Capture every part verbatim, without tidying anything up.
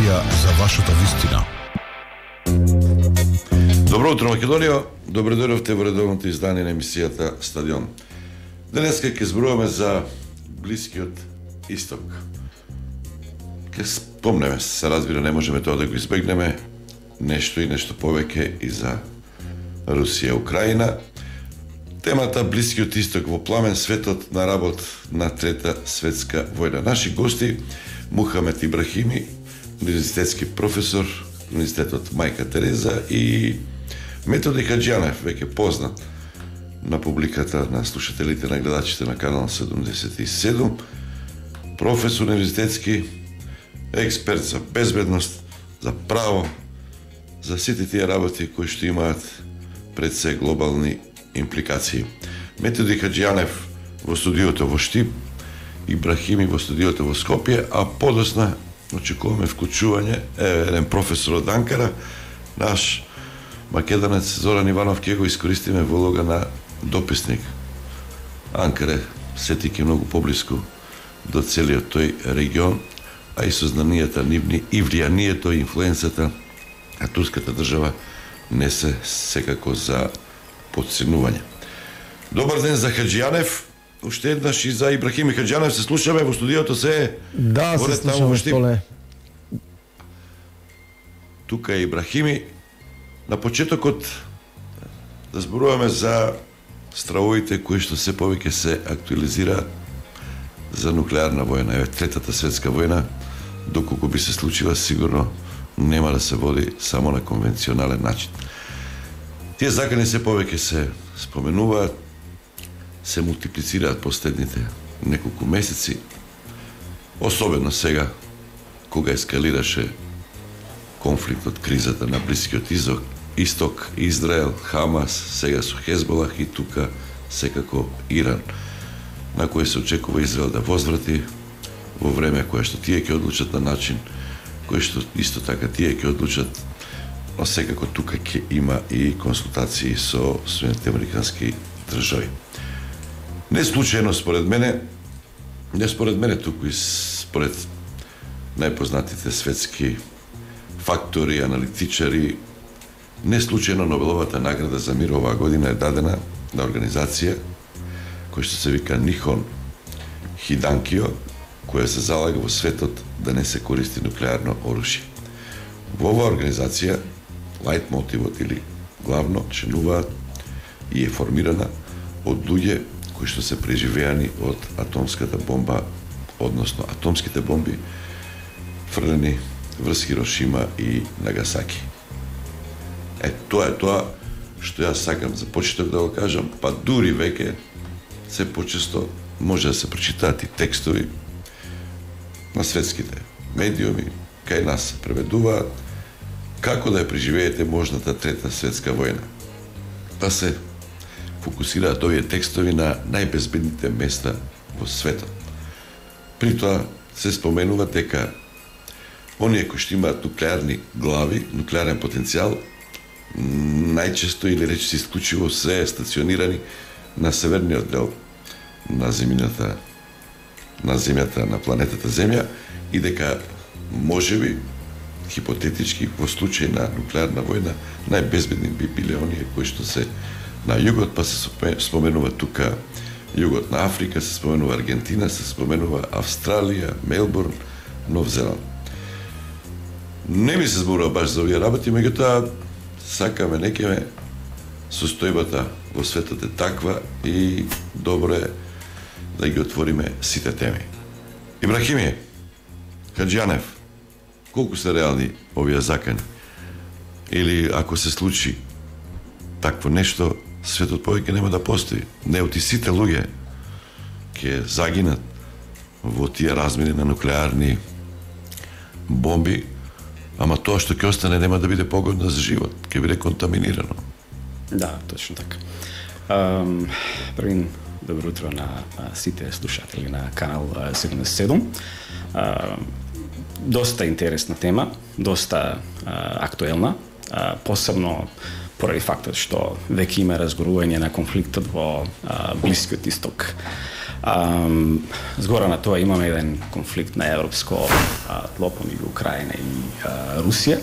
емисија за вашата вистина. Добро утро, Македонија. Добро дојдовте во редовното издание на емисијата Стадион. Денеска ќе зборуваме за Блискиот Исток. Ќе спомнеме, се разбира, не можеме тоа да го избегнеме, нешто и нешто повеќе и за Русија, Украина. Темата Блискиот Исток во пламен, светот на работ на Трета светска војна. Наши гости Мухамед Ибрахими, универзитетски професор, Универзитетот Мајка Тереза, и Методи Хаџијанев, веќе познат на публиката, на слушателите, на гледачите на канал седумдесет и седум, професор универзитетски, експерт за безбедност, за право, за сите тие работи кои што имаат пред се глобални импликации. Методи Хаџијанев во студиото во Штип, Ибрахими во студиото во Скопје, а подосна очекуваме вклучување еден професор од Анкара, наш македонец Зоран Иванов, ќе го искористиме во улога на дописник. Анкара сетики многу поблиску до целиот тој регион, а и сознанијата нивни и влијанието и инфлуенцата на турската држава не се секако за подценување. Добар ден за Хаџијанев, уште еднаш и за Ибрахими Хаџијанев. Се слушаме во студиото, се да, се слушаме, Столе. Тука е Ибрахими. На почетокот да зборуваме за стравовите кои што се повеќе се актуализираат за нуклеарна војна. Еве, Третата светска војна, доколку би се случила, сигурно нема да се води само на конвенционален начин. Тие закани се повеќе се споменуваат, се мултиплицираат последните неколку месеци, особено сега, кога ескалираше конфликтот, кризата на Блискиот Исток, Исток, Израел, Хамас, сега со Хезболах и тука секако Иран, на кој се очекува Израел да возврати во време кое што тие ќе одлучат на начин, кој што исто така тие ќе одлучат, но секако тука ќе има и консултации со Соединетите американски држави. Не случајно според мене, не според мене, туку и според најпознатите светски фактори, аналитичари, не случајно Нобеловата награда за мир оваа година е дадена на организација која што се вика Нихон Хиданкио, која се залага во светот да не се користи нуклеарно оружје. Во оваа организација лајт мотивот или главно членуваат и е формирана од луѓе кои што се преживеани од атомската бомба, односно атомските бомби фрлени врз Хирошима и Нагасаки. Е, тоа е тоа што јас сакам за почеток да го кажам, па дури веќе се почесто може да се прочитаат и текстови на светските медиуми, кај нас се преведуваат како да ја преживеете можната Трета светска војна. Па се фокусираат овие текстови на најбезбедните места во светот. При тоа се споменува дека оние кои што имаат нуклеарни глави, нуклеарен потенцијал, најчесто или речиси исклучиво се стационирани на северниот дел на земјата, на земјата, на планетата Земја, и дека можеби хипотетички во случај на нуклеарна војна најбезбедни би биле оние кои што се на југот, па се споменува тука југот на Африка, се споменува Аргентина, се споменува Австралија, Мелбурн, Нов Зеланд. Не ми се зборува баш за овие работи, меѓутоа сакаме некеме состојбата во светот е таква и добро е да ги отвориме сите теми. Ибрахими Хаџијанев, колку се реални овие закани? Или ако се случи такво нешто, светот повеќе нема да постои. Неоти сите луѓе ќе загинат во тие размери на нуклеарни бомби, ама тоа што ќе остане нема да биде погодно за живот, ќе биде контаминирано. Да, точно така. Um, Првин, добро утро на а, сите слушатели на канал седумдесет и седум. Uh, доста интересна тема, доста uh, актуелна, uh, посебно поради фактот што веќе има разгорување на конфликтот во а, Блискиот Исток. А, згора на тоа имаме еден конфликт на европско тло помеѓу Украина и а, Русија,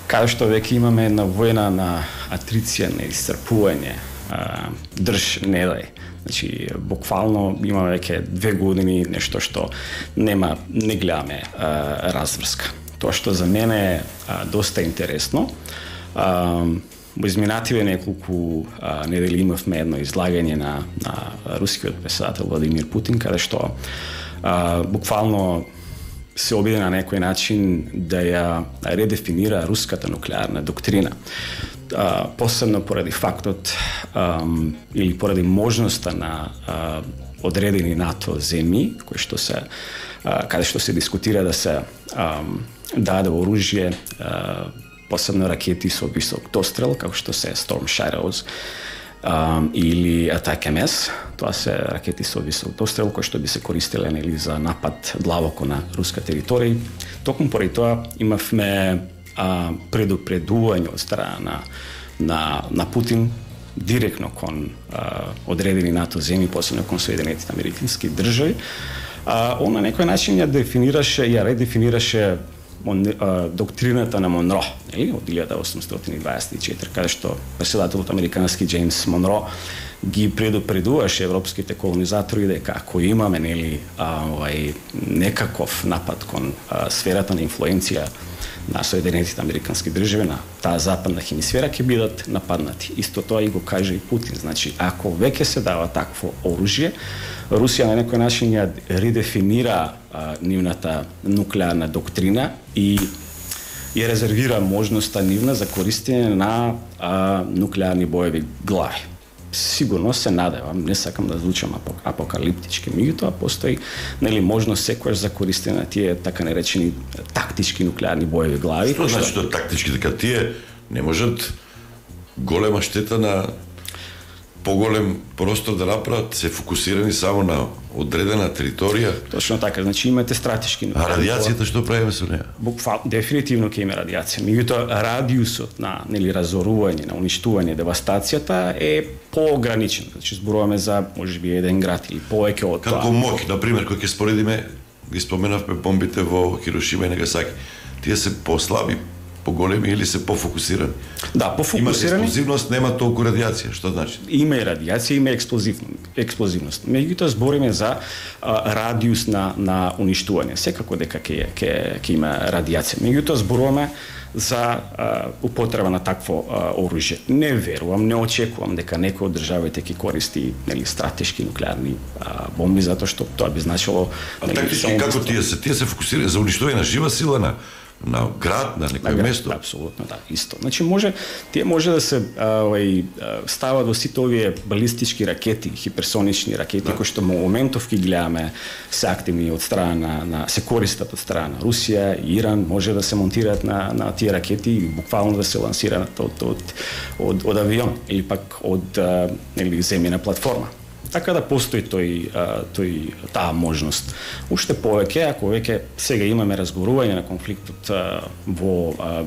каде што веќе имаме една војна на атриција, на исцрпување, а, држ не дај. Значи, буквално има веќе две години нешто што нема, не гледаме а, разврска. Тоа што за мене е а, доста интересно, а, во изминативе неколку а, недели имавме едно излагање на, на рускиот председател Владимир Путин, каде што а, буквално се обиде на некој начин да ја редефинира руската нуклеарна доктрина. А, посебно поради фактот а, или поради можноста на а, одредени НАТО земји, кои што се а, каде што се дискутира да се а, даде оружје, а, посебно ракети со висок дострел, како што се Storm Shadows um, или Attack М С. Тоа се ракети со висок дострел кои што би се користеле нели за напад длабоко на руска територија. Токму поради тоа имавме а, предупредување од страна на, на, на Путин директно кон а, одредени НАТО земји, посебно кон Соединетите Американски држави. А, он на некој начин ја дефинираше, ја редефинираше Мон, а, доктрината на Монро, нели, од илјада осумстотини дваесет и четири, каде што председателот американски Джеймс Монро ги предупредуваше европските колонизатори дека ако имаме нели а, овај некаков напад кон а, сферата на инфлуенција на Соединетите Американски држави, на таа западна хемисфера, ќе бидат нападнати. Исто тоа и го каже и Путин. Значи, ако веќе се дава такво оружје, Русија на некој начин ја редефинира а, нивната нуклеарна доктрина и ја резервира можноста нивна за користење на а, нуклеарни боеви глави. Сигурно се надевам, не сакам да звучам апокалиптички, меѓутоа постои нели можност секојаш за користење на тие така наречени тактички нуклеарни боеви глави. Што значи тоа тактички, дека тие не можат голема штета на поголем простор да направат, се фокусирани само на одредена територија. Точно така, значи имате стратешки. А радиацијата што правиме со неа? Буквално дефинитивно ќе има радиација. Меѓутоа радиусот на нели разорување, на уништување, девастацијата е поограничен. Значи зборуваме за можеби еден град или повеќе од тоа. Како моќ, на пример, кој ќе споредиме, ги споменавме бомбите во Хирошима и Нагасаки. Тие се послаби, поголеми или се пофокусирани? Да, пофокусирани. Има експлозивност, нема толку радиација, што значи? Има и радиација, има експлозивност. експлозивност. Меѓутоа збориме за а, радиус на на уништување. Секако дека ќе ќе ќе има радиација. Меѓутоа зборуваме за а, употреба на такво а, оружје. Не верувам, не очекувам дека некој од државите ќе користи нели стратешки нуклеарни а, бомби, затоа што тоа би значило. А тактички како тие се? Тие се фокусираат за уништување на жива сила, на на град, на некој на место. Апсолутно, да, исто. Значи може тие може да се овај стават во сите овие балистички ракети, хиперсонични ракети да. Кои што во моментов ги гледаме се активни од страна на, на се користат од страна на Русија, Иран, може да се монтираат на на тие ракети и буквално да се лансираат од од од, од авион или пак од нели земјена платформа. Така да постои тој, тој таа можност. Уште повеќе, ако веќе сега имаме разговорување на конфликтот во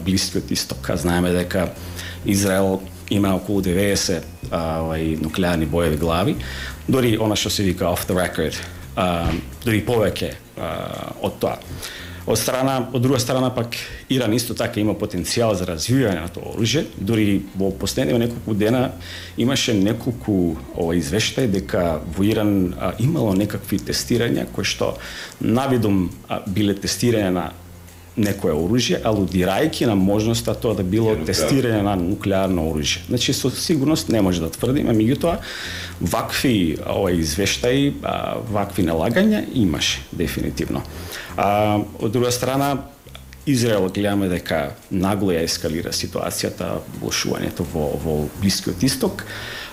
Блискиот Исток, знаеме дека Израел има околу деветдесет овај нуклеарни боеви глави, дори она што се вика off the record, дори повеќе од тоа. Од страна, од друга страна пак Иран исто така има потенцијал за развивање на тоа оружје. Дури во последниве неколку дена имаше неколку ова извештаи дека во Иран а, имало некакви тестирања кои што навидом а, биле тестирање на некое оружје, алудирајќи на можноста тоа да било тестирање на нуклеарно оружје. Значи со сигурност не може да тврдиме, меѓутоа вакви ова извештаи, а, вакви налагања имаше дефинитивно. А, од друга страна, Израел гледаме дека нагло ја ескалира ситуацијата, влошувањето во, во Блискиот Исток.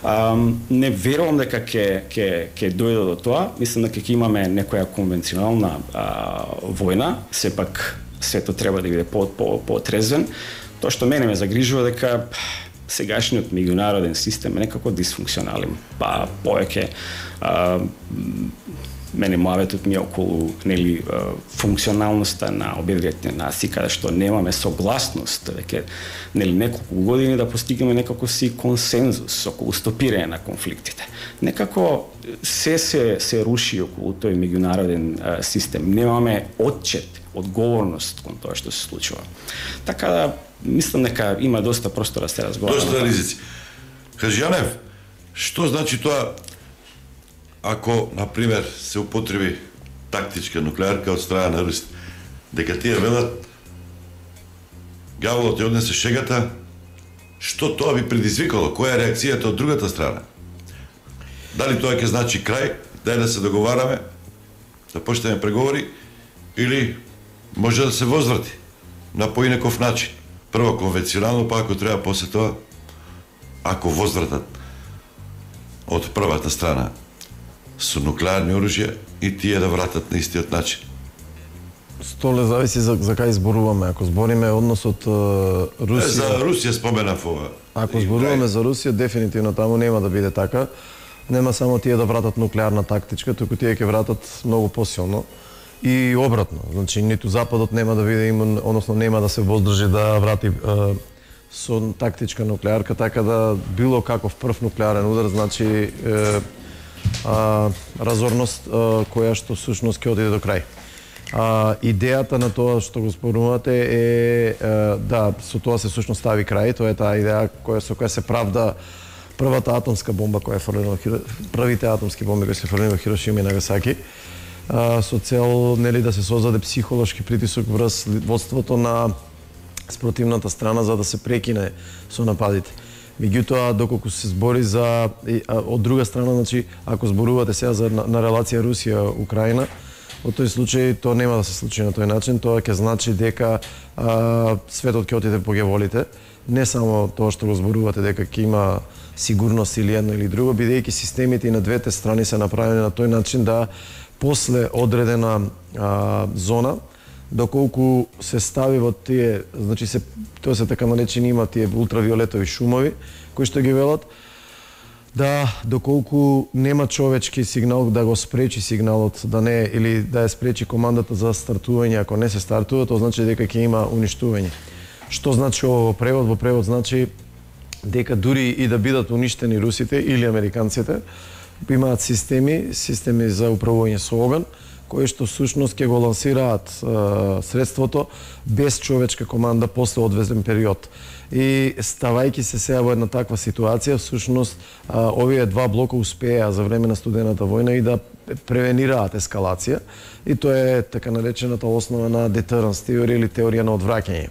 А, не верувам дека ќе ќе ќе дојде до тоа. Мислам дека ќе имаме некоја конвенционална а, војна, сепак сето треба да биде по по потрезвен. Тоа што мене ме загрижува дека сегашниот меѓународен систем е некако дисфункционален, па повеќе мене муаветот ми е околу нели функционалноста на обидвите наси, каде што немаме согласност веќе нели неколку години да постигнеме некако си консензус околу стопирање на конфликтите. Некако се се се руши околу тој меѓународен систем. Немаме отчет, одговорност кон тоа што се случува. Така да мислам дека има доста простор да се разговара. Доста ризици. Кажјанев, што значи тоа ако, например, се употреби тактичка нуклеарка од страна на Русија, дека тие велат гаволот ја однесе шегата, што тоа би предизвикало? Која е реакцијата од другата страна? Дали тоа ќе значи крај, дај да се договараме, да почнеме преговори, или може да се возврати на поинаков начин? Прво конвенционално, па ако треба после тоа, ако возвратат од првата страна со нуклеарни оружја и тие да вратат на истиот начин. Столе зависи за, за кај зборуваме. Ако збориме односот Русија... За Русија споменав ова. Ако зборуваме за Русија, дефинитивно таму нема да биде така. Нема само тие да вратат нуклеарна тактичка, туку тие ќе вратат многу посилно. И обратно, значи ниту Западот нема да биде имун, односно нема да се воздржи да врати е, со тактичка нуклеарка, така да било каков прв нуклеарен удар, значи е, а, разорност а, која што сушност ќе одиде до крај. А, идејата на тоа што го спорувате е, е да, со тоа се сушност стави крај, тоа е таа идеја која со која се правда првата атомска бомба која е фрлена, првите атомски бомби кои се фрлени во Хирошима и Нагасаки, а, со цел нели да се создаде психолошки притисок врз водството на спротивната страна за да се прекине со нападите. Меѓутоа, доколку се збори за од друга страна, значи ако зборувате сега за на, на релација Русија-Украина, во тој случај тоа нема да се случи на тој начин, тоа ќе значи дека а, светот ќе отиде по геволите, не само тоа што го зборувате дека ќе има сигурност или едно или друго, бидејќи системите и на двете страни се направени на тој начин да после одредена а, зона, доколку се стави во тие, значи се тоа се така наречени има тие ултравиолетови шумови кои што ги велат, да доколку нема човечки сигнал да го спречи сигналот да не или да ја спречи командата за стартување, ако не се стартува, тоа значи дека ќе има уништување. Што значи ово во превод? Во превод значи дека дури и да бидат уништени русите или американците, имаат системи, системи за управување со оган, кои што сушност ќе го лансираат е, средството без човечка команда после одвезен период. И ставајќи се сега во една таква ситуација, всушност е, овие два блока успеа за време на студената војна и да превенираат ескалација, и тоа е така наречената основа на deterrence теорија или теорија на одвраќање.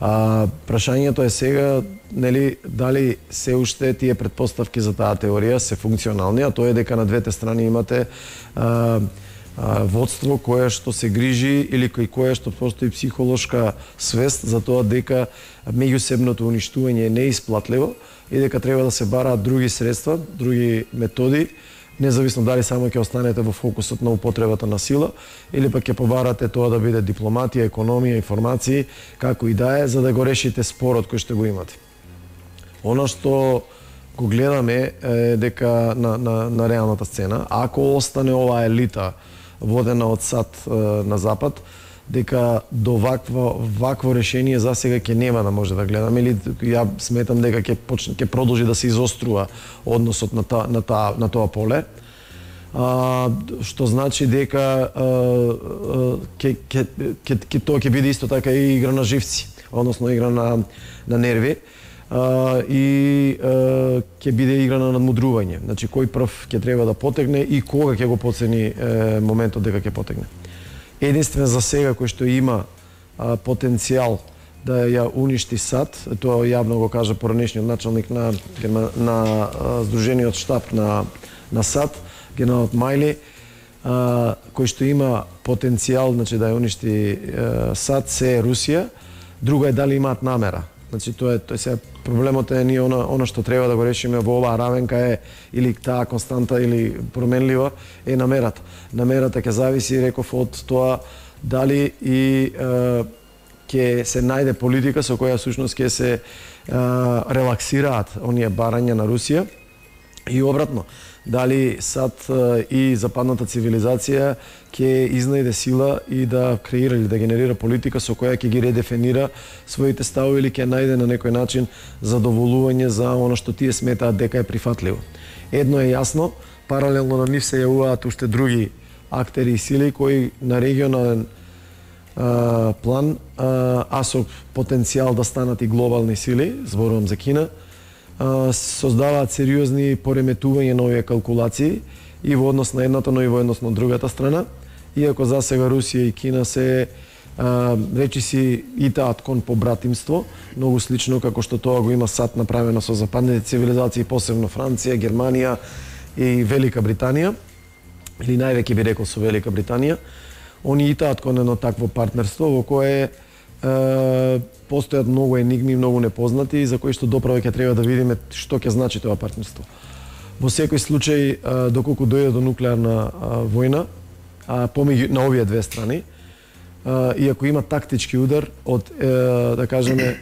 А, прашањето е сега, нели, дали се уште тие претпоставки за таа теорија се функционални, а тоа е дека на двете страни имате а, а, водство кое што се грижи или кој кое што постои психолошка свест за тоа дека меѓусебното уништување е неисплатливо и дека треба да се бараат други средства, други методи, независно дали само ќе останете во фокусот на употребата на сила или пак ќе побарате тоа да биде дипломатија, економија, информации, како и да е, за да го решите спорот кој што го имате. Она што го гледаме е дека на, на, на реалната сцена, ако остане оваа елита водена од САД е, на Запад, дека до вакво, вакво решение за сега ќе нема да може да гледаме, или ја сметам дека ќе почне ќе продолжи да се изострува односот на та, на та, на тоа поле. А, што значи дека ќе ќе ќе тоа ќе биде исто така и игра на живци, односно игра на на нерви. Uh, и uh, ќе биде игра на надмудрување. Значи, кој прв ќе треба да потегне и кога ќе го поцени uh, моментот дека ќе потегне. Единствен за сега кој што има uh, потенцијал да ја уништи САД, тоа јавно го кажа поранешниот началник на, на, на uh, Сдружениот штаб на, на САД, генералот Мајли, uh, кој што има потенцијал, значи, да ја уништи uh, САД, се е Русија, друго е дали имаат намера. Значи, тоа е, тоа е проблемот е ние она, она што треба да го решиме во оваа равенка е или таа константа или променлива е намерата. Намерата ќе зависи, реков, од тоа дали и е, ќе се најде политика со која всушност ќе се е, релаксираат оние барања на Русија и обратно. дали САД и западната цивилизација ќе изнајде сила и да креира или да генерира политика со која ќе ги редефинира своите ставови или ќе најде на некој начин задоволување за она што тие сметаат дека е прифатливо. Едно е јасно, паралелно на нив се јавуваат уште други актери и сили кои на регионален а, план, а, а со потенцијал да станат и глобални сили, зборувам за Кина, а, создаваат сериозни пореметувања на овие калкулации и во однос на едната, но и во однос на другата страна. Иако за сега Русија и Кина се а, речиси итаат кон побратимство, многу слично како што тоа го има САД направено со западните цивилизации, посебно Франција, Германија и Велика Британија, или највеќе би рекол со Велика Британија. Они итаат кон едно такво партнерство во кое е, постојат многу енигми, многу непознати, за кои што доправо ќе треба да видиме што ќе значи тоа партнерство. Во секој случај, е, доколку дојде до нуклеарна е, војна, а, помеѓу на овие две страни, а, и ако има тактички удар од, е, да кажеме,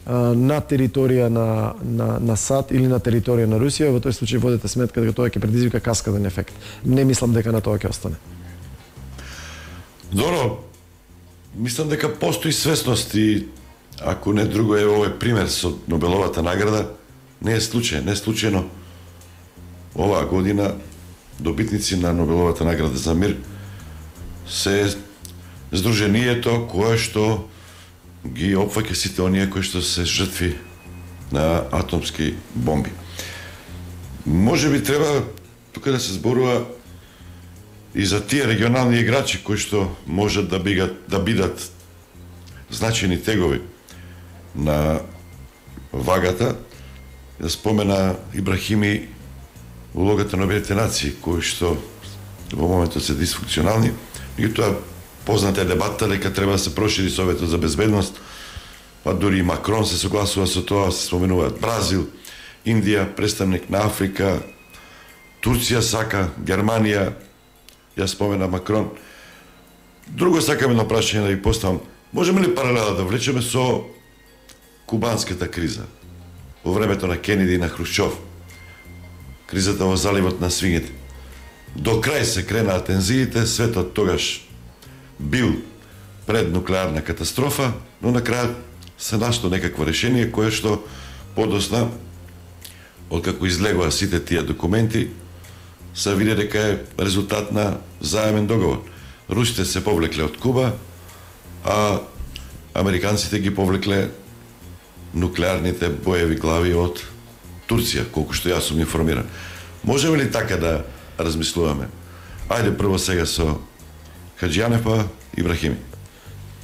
а, на територија на, на, на САД или на територија на Русија, во тој случај водете сметка дека тоа ќе предизвика каскаден ефект. Не мислам дека на тоа ќе остане. Добро, мислам дека постои свесност и ако не друго е овој пример со Нобеловата награда, не е случај, не е случајно оваа година добитници на Нобеловата награда за мир се здруженијето кое што ги опфаќа сите оние кои што се жртви на атомски бомби. Може би треба тука да се зборува и за тие регионални играчи кои што можат да бидат, да бидат значајни тегови на вагата. Да спомена Ибрахими улогата на Обединетите нации, кои што во моментот се дисфункционални. Меѓутоа, позната е дебатата дека треба да се прошири Советот за безбедност, па дури и Макрон се согласува со тоа, се споменуваат Бразил, Индија, представник на Африка, Турција сака, Германија, јас спомена Макрон. Друго сакам едно прашање да ви поставам. Можеме ли паралела да влечеме со кубанската криза во времето на Кенеди и на Хрушчов? Кризата во заливот на свињите. До крај се кренаа тензиите, светот тогаш бил пред нуклеарна катастрофа, но на крај се нашло некакво решение кое што подосна, откако излегоа сите тие документи, се види дека е резултат на заемен договор. Русите се повлекле од Куба, а американците ги повлекле нуклеарните боеви глави од Турција, колку што јас сум информиран. Можеме ли така да размислуваме? Ајде прво сега со Хаџијанев, па Ибрахими.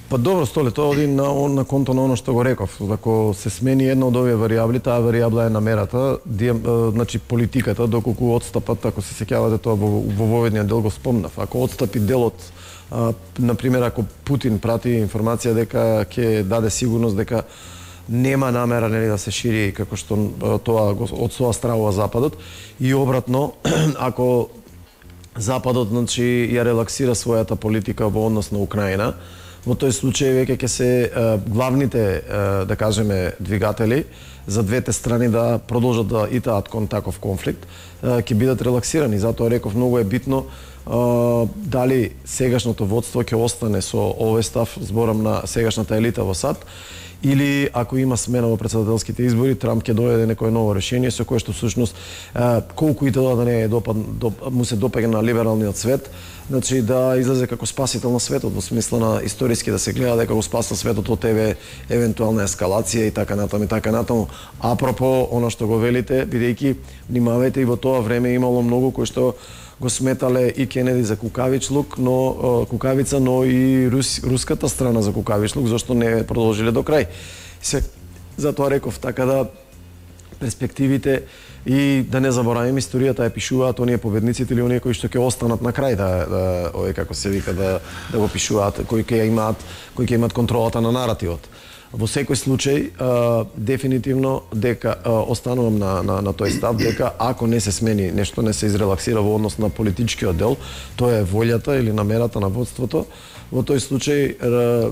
Па добро, Столе, тоа оди на, на конто на оно што го реков. Ако се смени една од овие варијабли, таа варијабла е намерата, дием, значи политиката, доколку отстапат, ако се сеќавате тоа во, во воведниот дел го спомнав. Ако отстапи делот, а, например, ако Путин прати информација дека ќе даде сигурност дека нема намера, нели, да се шири како што тоа од тоа стравува Западот, и обратно, ако Западот, значи, ја релаксира својата политика во однос на Украина, во тој случај веќе ќе се е, главните, е, да кажеме, двигатели за двете страни да продолжат да итаат кон таков конфликт, е, ќе бидат релаксирани. Затоа реков, многу е битно е, дали сегашното водство ќе остане со овој став, зборам на сегашната елита во САД, или ако има смена во претседателските избори, Трамп ќе дојде некое ново решение со кое што всушност колку и тоа да не е допад, доп, му се допаѓа на либералниот свет, значи да излезе како спасител на светот, во смисла на историски да се гледа дека го спаса светот од еве евентуална ескалација и така натаму и така натаму. Апропо она што го велите, бидејќи внимавајте, и во тоа време имало многу кои што го сметале и Кенеди за кукавичлук, но кукавица, но и рус, руската страна за кукавичлук, зашто не продолжиле до крај. Се, затоа реков, така да перспективите и да не забораваме, историјата ја пишуваат оние победниците или оние кои што ќе останат на крај, да, да овој како се вика, да да го пишуваат, кои ќе имаат, кои ќе имаат контролата на наративот. Во секој случај, а, дефинитивно дека а, останувам на, на, на тој став, дека ако не се смени нешто, не се изрелаксира во однос на политичкиот дел, тоа е волјата или намерата на водството, во тој случај р,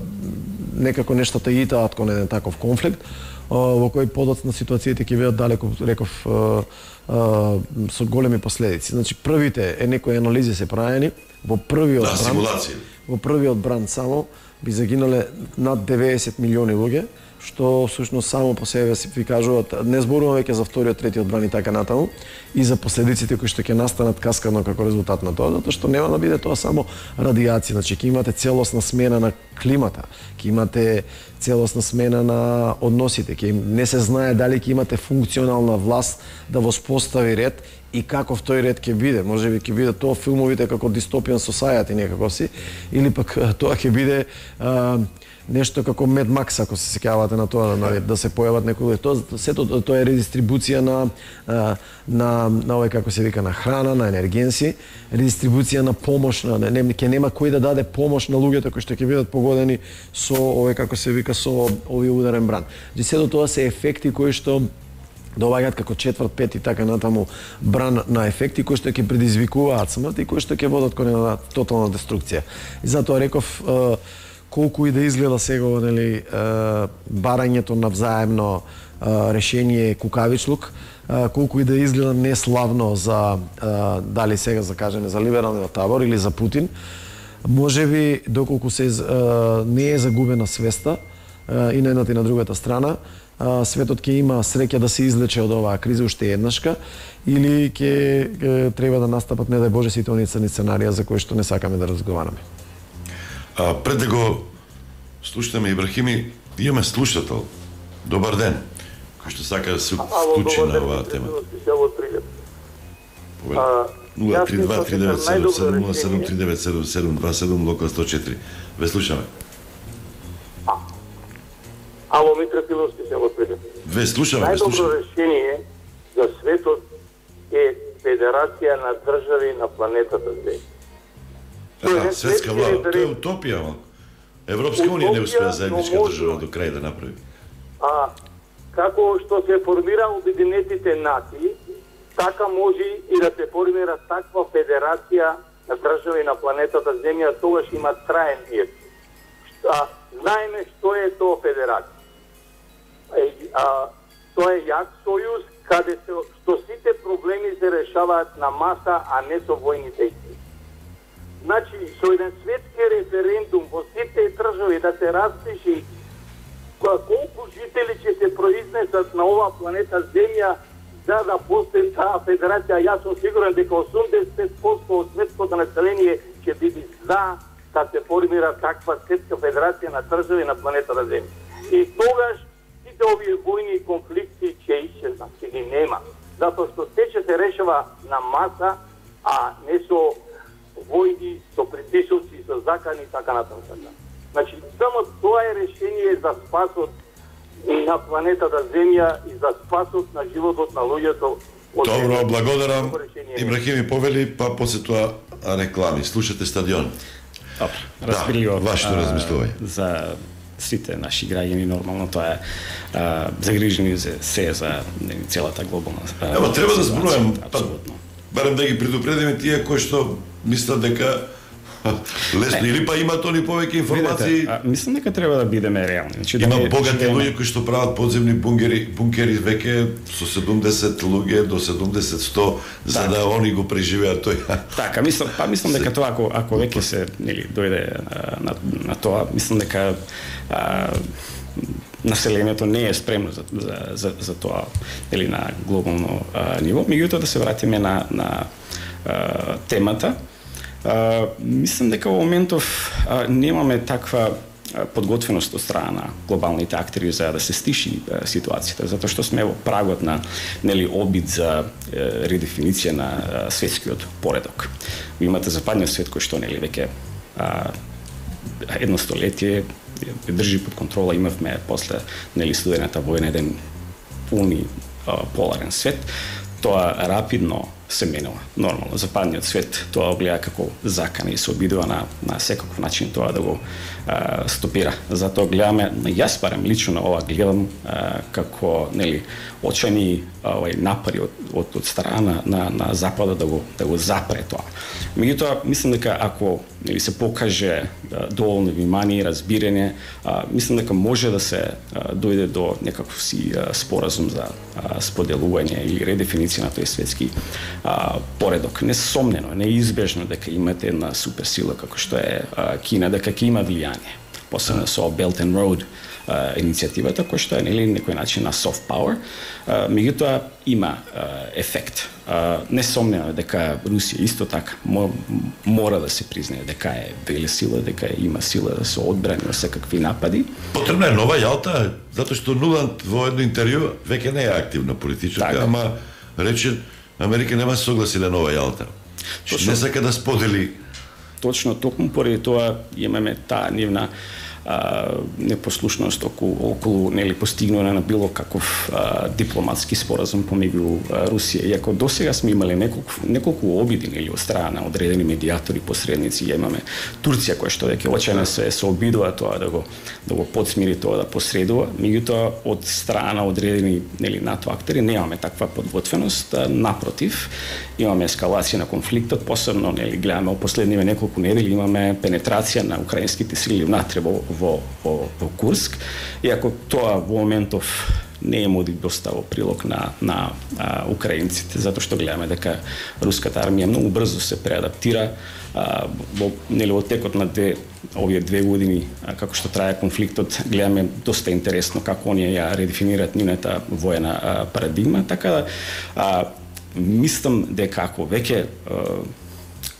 некако нештата итаат кон еден таков конфликт, а, во кој подоцна ситуациите ќе бидат далеку, реков, а, а, со големи последици. Значи, првите е некои анализи се правени, во првиот да, бран, во првиот бран само би загинале над деветдесет милиони луѓе, што всушност само по себе си ви кажуваат, не зборуваме веќе за вториот, третиот бран и така натаму, и за последиците кои што ќе настанат каскадно како резултат на тоа, затоа што нема да биде тоа само радиација, значи ќе имате целосна смена на климата, ќе имате целосна смена на односите, ќе не се знае дали ќе имате функционална власт да воспостави ред и каков тој ред ќе биде. Можеби ќе биде тоа филмовите како Dystopian Society некако си, или пак тоа ќе биде а, нешто како Mad Max, ако се сеќавате на тоа, на, да се појават некои тоа, сето тоа е редистрибуција на на на, на овој како се вика на храна, на енергенси, редистрибуција на помош, на не, ќе нема кој да даде помош на луѓето кои што ќе бидат погодени со овој како се вика со овој ударен бран. Значи сето тоа се ефекти кои што доаѓаат како четврт, пет и така натаму бран на ефекти кои што ќе предизвикуваат смрт и кои што ќе водат кон една тотална деструкција. И затоа реков колку и да изгледа сега нели барањето на взаемно решение кукавичлук, колку и да изгледа неславно за дали сега за кажеме за либералниот табор или за Путин, можеби доколку се не е загубена свеста и на едната и на другата страна, светот ќе има среќа да се излече од оваа криза уште еднашка, или ќе треба да настапат, не дај Боже, сите оние црни сценарија за кои што не сакаме да разговараме. А, пред да го слушаме Ибрахими, имаме слушател. Добар ден, кој што сака да се вклучи на оваа тема. нула три два три девет седум седум нула седум три девет седум седум два седум локал сто четири. Ве слушаме. Ало, Митра Пиловски се во Прилеп. Ве слушаме, ве слушаме. Најдобро решение за светот е Федерација на држави на планетата Земја. Аха, светска влада, тоа е утопија, ама. Европска унија не успеа заедничка држава до крај да направи. А како што се формира Обединетите нации, така може и да се формира таква федерација на држави на планетата Земја, тогаш има траен мир. А, знаеме што е тоа федерација. А, тоа е јак сојуз каде се, што сите проблеми се решаваат на маса, а не со војни дејства. Значи, со еден светски референдум во сите држави да се распиши колку жители ќе се произнесат на оваа планета Земја за да постои таа федерација, јас сум сигурен дека осумдесет и пет проценти од светското население ќе биде за да се формира таква светска федерација на држави на планетата Земја. И тогаш сите овие војни и конфликти ќе исчезнат, ќе ги нема. Затоа што се ќе се решава на маса, а не со војни, со притисоци, со закани и така натаму. Значи, само тоа е решение за спасот на планетата Земја и за спасот на животот на луѓето. Добро, благодарам. Ибрахими повели, па после тоа реклами. Слушате Стадион. Добро, разбирливо. Да, вашето размислување. За сите наши граѓани нормално тоа е а, загрижени за се за не, целата глобална. Ева треба да зборувам, апсолутно. Барем да ги предупредиме тие кои што мислат дека лесно или па имаат они повеќе информации. Видете, а, мислам дека треба да бидеме реални. Значи, има да богати живееме... луѓе кои што прават подземни бунгери, бункери веќе со седумдесет луѓе до седумдесет сто за да они го преживеат тој. Така, мислам, па мислам дека тоа ако ако веќе се нели дојде на, на тоа, мислам дека а, населението не е спремно за за за, за тоа или на глобално а, ниво. Меѓутоа да се вратиме на на а, темата. Uh, мислам дека во моментов uh, немаме таква uh, подготвеност од страна на глобалните актери за да се стиши uh, ситуацијата, затоа што сме во прагот на нели обид за uh, редефиниција на uh, светскиот поредок. Ви имате западниот свет кој што нели веќе uh, едно столетие држи под контрола, имавме после нели студената војна еден пуни uh, поларен свет. Тоа рапидно се менува. Нормално, западниот свет тоа гледа како закана и се обидува на, на секаков начин тоа да го а, стопира. Затоа гледаме, јас барем лично на ова гледам а, како нели очени овај напари од, од, од страна на, на западот да го да го запре тоа. Меѓутоа мислам дека ако нели се покаже а, доволно внимание и разбирање, а, мислам дека може да се а, дојде до некаков си а, споразум за а, споделување или редефиниција на тој светски а, поредок. Несомнено, неизбежно дека имате една суперсила како што е а, Кина, дека ќе има влијание. Посебно со Belt and Road Uh, иницијативата, која што е нели некој начин на soft power, uh, меѓутоа има uh, ефект. Uh, несомнено дека Русија исто така мо, мора да се признае дека е велесила, дека има сила да се одбрани од секакви напади. Потребна е нова Јалта, затоа што Нуланд во едно интервју веќе не е активна политичарка, така, ама рече Америка нема согласиле нова Јалта. Точно, не сака да сподели. Точно, токму поради тоа имаме таа нивна Uh, непослушност околу, околу нели постигнување на било каков uh, дипломатски споразум помеѓу uh, Русија. Иако досега сме имале неколку неколку обиди нели од страна на одредени медиатори, посредници, имаме Турција која што веќе очено се се обидува тоа да го да го подсмири тоа да посредува, меѓутоа од страна одредени нели НАТО актери немаме таква подготвеност, напротив, имаме ескалација на конфликтот, посебно нели гледаме во последниве неколку недели имаме пенетрација на украинските сили внатре во во, во, во Курск, иако тоа во моментов не е моди доста во прилог на, на а, украинците, затоа што гледаме дека руската армија многу брзо се преадаптира а, во, нели, во текот на две, овие две години, а, како што трае конфликтот, гледаме доста интересно како оние ја редефинираат нивната воена а, парадигма, така да а, мислам дека ако веќе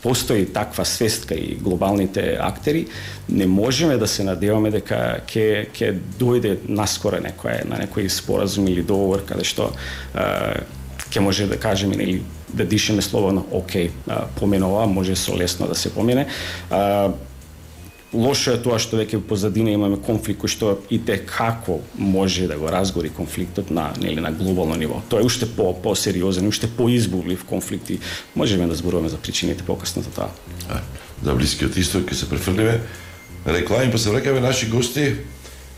постои таква свест кај глобалните актери, не можеме да се надеваме дека ќе ќе дојде наскоро некој на некој споразум или договор каде што ќе може да кажеме или да дишеме слободно, окей, поменува, може со лесно да се помене. А, лошо е тоа што веќе позадина имаме конфликт кој што и те како може да го разгори конфликтот на нели на глобално ниво. Тоа е уште по посериозен, уште поизбувлив конфликт и можеме да зборуваме за причините покасно за тоа. А, за Блискиот исток ќе се префрлиме реклами, па се враќаме наши гости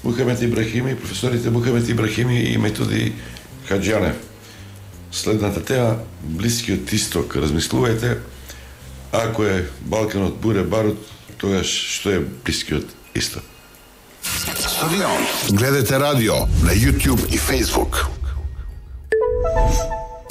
Мухамед Ибрахими, професорите Мухамед Ибрахими и Методи Хаџјанев. Следната тема Блискиот исток. Размислувајте, ако е Балканот буре барут, тогаш што е Блискиот исток? Стадион. Гледате радио на YouTube и Facebook.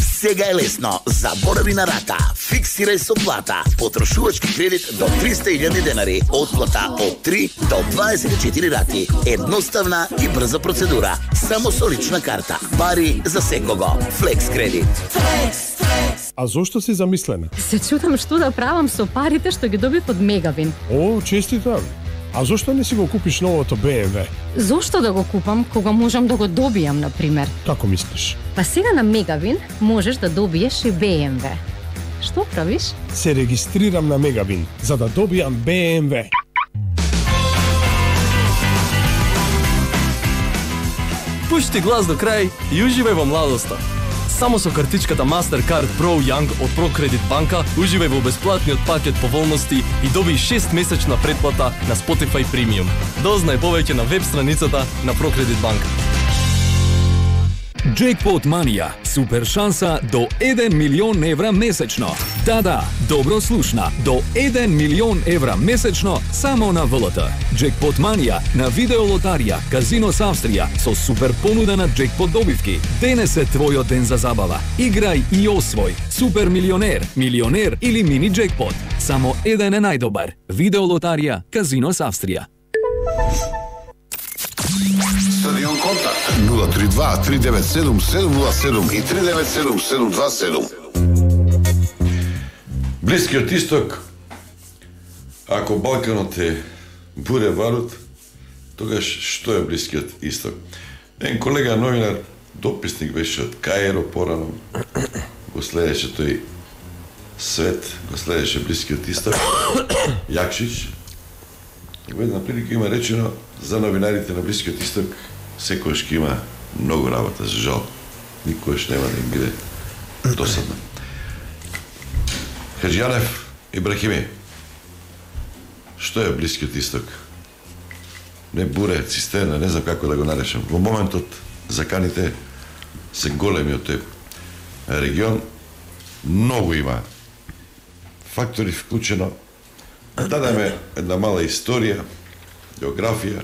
Сега е лесно. Заборави на рата. Фиксирај со плата. Потрошувачки кредит до триста илјади денари. Отплата од три до дваесет и четири рати. Едноставна и брза процедура. Само со лична карта. Пари за секого. Флекс кредит. Флекс, флекс. А зошто си замислена? Се чудам што да правам со парите што ги доби под Мегавин. О, честитам. А зошто не си го купиш новото Б М В? Зошто да го купам кога можам да го добијам, на пример? Како мислиш? Па сега на Мегавин можеш да добиеш и Б М В. Што правиш? Се регистрирам на Мегавин за да добијам Б М В. Пушти глас до крај и уживај во младоста. Само со картичката Mastercard Pro Young од ProCredit банка уживај во бесплатниот пакет поволности и доби шест месечна претплата на Spotify Premium. Дознај повеќе на веб страницата на ProCredit банка. Jackpot Mania. Супер шанса до еден милион евра месечно. Да, да, добро слушна. До еден милион евра месечно само на В Л Т. Jackpot Mania на видеолотарија Казино Австрија со супер понуда на джекпот добивки. Денес е твојот ден за забава. Играј и освој. Супер милионер, милионер или мини джекпот. Само еден е најдобар. Видеолотарија Казино Австрија. Стадион контакт нула три два три девет седум седум нула седум и три девет седум седум два седум. Блискиот исток, ако Балканот е буре барут, тогаш што е Блискиот исток? Ен колега новинар, дописник беше од Каиро порано, го следеше тој свет, го следеше Блискиот исток, Јакшич. Во една прилика има речено за новинарите на Блискиот исток, секојаш ќе има многу работа, за жал. Никојаш нема да им биде досадно. Хаџијанев, Ибрахими, што е Блискиот исток? Не буре, цистерна, не знам како да го наречам. Во моментот заканите се големи од тој регион, многу има фактори вклучено. Дадеме една мала историја, географија.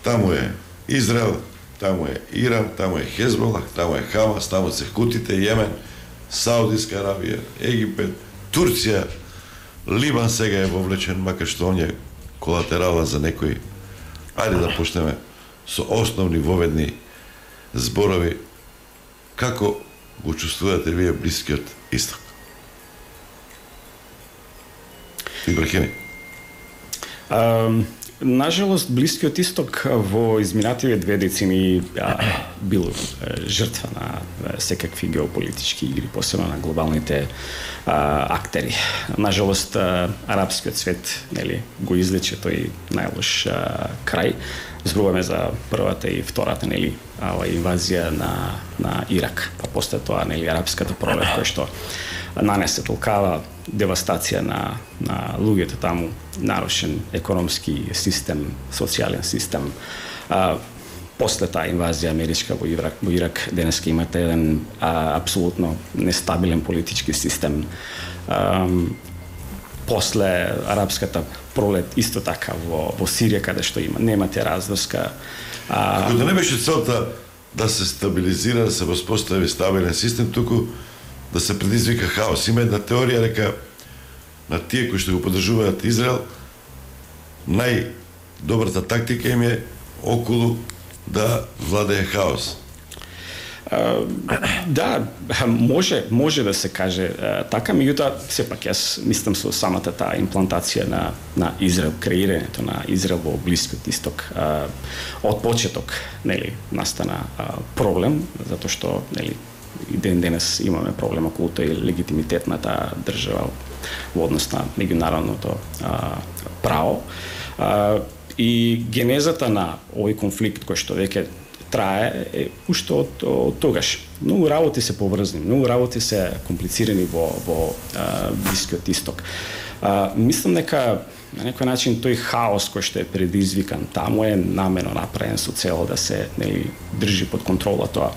Таму е Израел, таму е Иран, таму е Хезболах, таму е Хамас, таму се Хутите, Јемен, Саудиска Аравија, Египет, Турција, Либан сега е вовлечен, макар што он е колатерала за некои. Ајде да почнеме со основни воведни зборови. Како го чувствувате вие Блискиот исток? Ибрахими. Um... Нажалост, Блискиот исток во изминативе две децени а, бил жртва на секакви геополитички игри, посебно на глобалните а, актери. Нажалост, а, арапскиот свет, нели, го излече тој најлош а, крај. Зборуваме за првата и втората, нели, ова инвазија на на Ирак, па после тоа, нели, арапската пролет која што нанесе толкава девастација на на луѓето таму, нарушен економски систем, социјален систем. А, после таа инвазија америчка во Ирак, во Ирак денеска имате еден а, апсолутно нестабилен политички систем. А, после арапската пролет исто така во во Сирија каде што има немате разврска. А, Ако да не беше целта да се стабилизира, да се воспостави стабилен систем, туку да се предизвика хаос. Има една теорија дека на тие кои што го поддржуваат Израел, најдобрата тактика им е околу да владее хаос. Uh, да, може, може да се каже uh, така, меѓутоа сепак јас мислам со самата таа имплантација на на Израел, креирањето на Израел во Блискиот исток. Uh, од почеток, нели, настана uh, проблем, затоа што, нели, и ден денес имаме проблем околу тој легитимитет на таа држава во однос на меѓународното uh, право. Uh, и генезата на овој конфликт кој што веќе трае е уште од, од тогаш. Многу работи се поврзани, многу работи се комплицирани во во а, Блискиот исток. А, мислам дека на некој начин тој хаос кој што е предизвикан таму е намерно направен со цел да се, нели, држи под контрола тоа.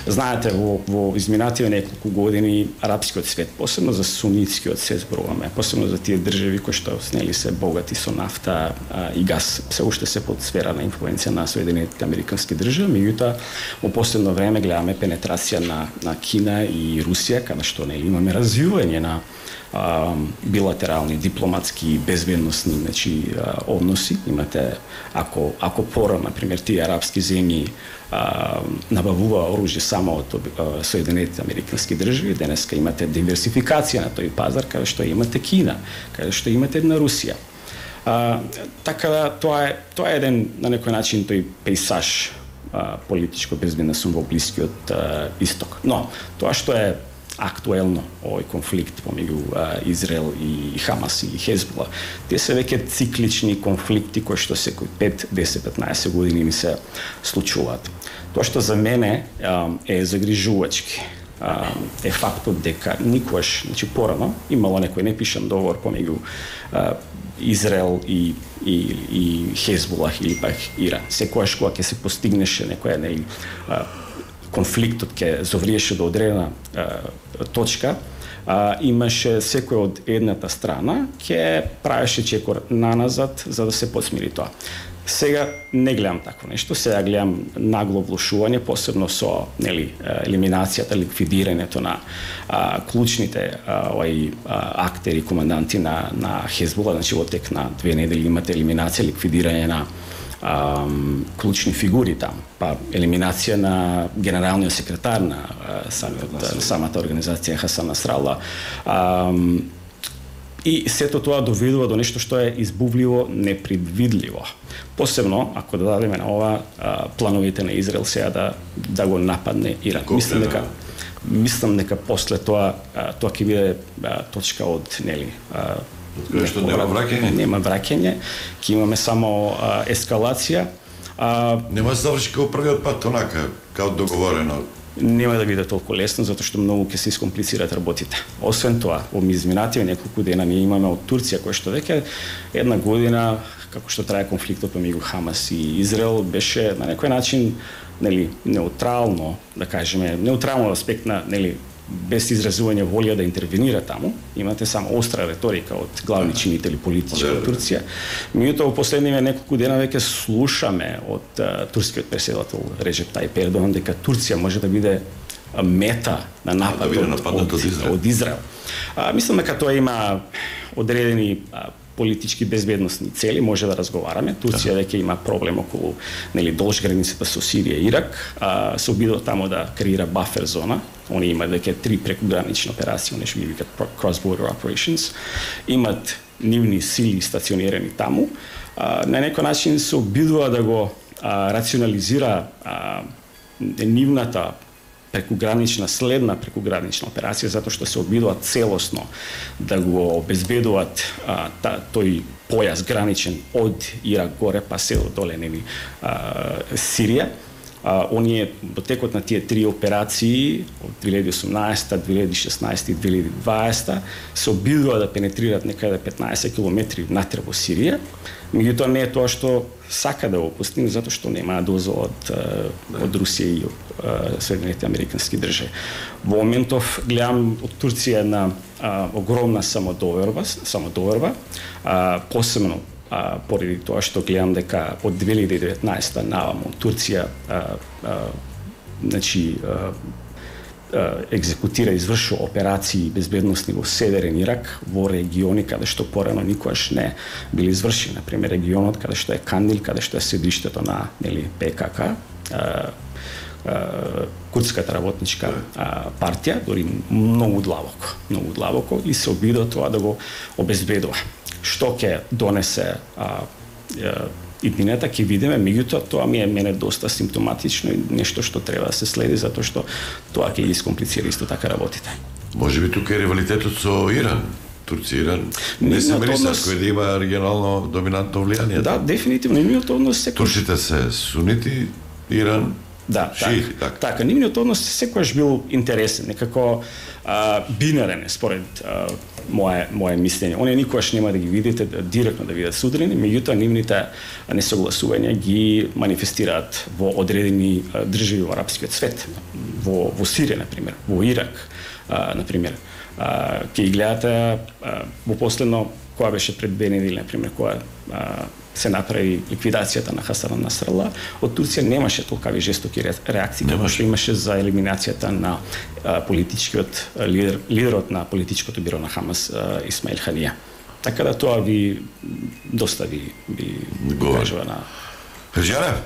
Знаете, во во изминативе неколку години арапскиот свет, посебно за сунитскиот свет зборуваме, посебно за тие држави кои што, нели, се богати со нафта а, и газ, се уште се под сфера на инфлуенција на Соединетите американски држави, меѓутоа во последно време гледаме пенетрација на на Кина и Русија, каде што, нели, имаме развивање на а, билатерални, дипломатски, безбедносни, значи, а, односи. Имате, ако ако порано, например, тие арапски земји а, набавува оружје само од а, Соединетите американски држави, денеска имате диверсификација на тој пазар, каде што имате Кина, каде што имате една Русија. А, така да тоа е тоа е еден на некој начин тој пейсаж а, политичко безбедносен во Блискиот а, исток. Но тоа што е актуелно овој конфликт помеѓу Израел и Хамас и Хезбола, тие се веќе циклични конфликти кои што секој пет, десет, петнаесет години ми се случуваат. Тоа што за мене е загрижувачки е фактот дека никогаш, значи порано, имало некој непишан договор помеѓу Израел и и и Хезболах или пак Иран. Секогаш кога ќе се постигнеше некоја нели конфликтот ќе завриеше до одредена а, точка, а, имаше секој од едната страна ќе правеше чекор наназад за да се посмири тоа. Сега не гледам такво нешто, сега гледам нагло влошување, посебно со, нели, елиминацијата, ликвидирањето на а, клучните а, овај а, актери, команданти на на Хезбола, значи во тек на две недели имате елиминација, ликвидирање на Um, клучни фигури таму, па елиминација на генералниот секретар на uh, самиот, uh, самата организација Хасан Насрала. Um, и сето тоа доведува до нешто што е избувливо, непредвидливо. Посебно ако да дадеме на ова uh, плановите на Израел сега да да го нападне Иран. Мислам дека мислам дека после тоа uh, тоа ќе биде uh, точка од, нели, uh, Кој што нема враќање? Нема враќање, ќе имаме само а, ескалација. А, нема да заврши како првиот пат онака, како договорено. нема да биде толку лесно, затоа што многу ќе се искомплицираат работите. Освен тоа, во изминативе неколку дена ние имаме од Турција, кој што веќе една година, како што трае конфликтот помеѓу Хамас и Израел, беше на некој начин, нели, неутрално, да кажеме, неутрално аспект на, нели, без изразување волја да интервенира таму. Имате само остра реторика од главни чинители политички од Турција. Меѓутоа во последниве неколку дена веќе слушаме од uh, турскиот председател Реджеп Тајип Ердоган дека Турција може да биде мета на напад да од, од, од Израел. Од Израел. А, мислам дека тоа има одредени а, политички безбедносни цели, може да разговараме. Турција веќе има проблем околу, нели, долж границата со Сирија и Ирак, а, се обидува таму да креира бафер зона. Они имаат веќе три прекугранични операции, они што ги викаат cross-border operations. Имат нивни сили стационирани таму. А, на некој начин се обидува да го а, рационализира а, нивната прекугранична, следна прекугранична операција, затоа што се обидуваат целосно да го обезбедуваат а, та, тој појас граничен од Ирак горе па се доле, нели, а, Сирија. А, оние во текот на тие три операции од две илјади и осумнаесета, две илјади и шеснаесета и две илјади и дваесета се обидува да пенетрираат некаде петнаесет километри внатре во Сирија. Меѓутоа не е тоа што сака да го постигне, затоа што нема дозвола од, од Русија и од Соединетите американски држави. Во моментов гледам од Турција една а, огромна самодоверба, самодоверба, а, посебно а, поради тоа што гледам дека од две илјади и деветнаесета наваму Турција а, а, значи а, екзекутира, извршува операции безбедносни во северен Ирак, во региони каде што порано никогаш не били извршени, например регионот каде што е Кандил, каде што е седиштето на, нели, Пе Ка Ка, Курдската работничка а, партија, дори многу длабоко, многу длабоко, и се обидува тоа да го обезбедува. Што ќе донесе а, а, иднината ќе видиме, меѓутоа тоа ми е мене доста симптоматично и нешто што треба да се следи, затоа што тоа ќе ги искомплицира исто така работите. Може би тука е ривалитетот со Иран. Турција и Иран не се мириса кој да има регионално доминантно влијание. Да, дефинитивно нивниот однос секој. Турците се сунити, Иран да, шиити, така. Така, така нивниот однос секогаш бил интересен, некако а, бинарен според а, мое мое мислење. Оние никогаш нема да ги видите директно да видат судрини, меѓутоа нивните несогласувања ги манифестираат во одредени а, држави во арапскиот свет, во во Сирија на пример, во Ирак а, на пример. А, ќе ги гледате а, во последно која беше пред две недели на пример, која а, се направи ликвидацијата на Хасан Насрала, од Турција немаше толкави жестоки реакции како што имаше за елиминацијата на а, политичкиот лидер, лидерот на политичкото биро на Хамас а, Исмаил Ханија. Така да тоа ви доста ви ви кажува на Хаджанев.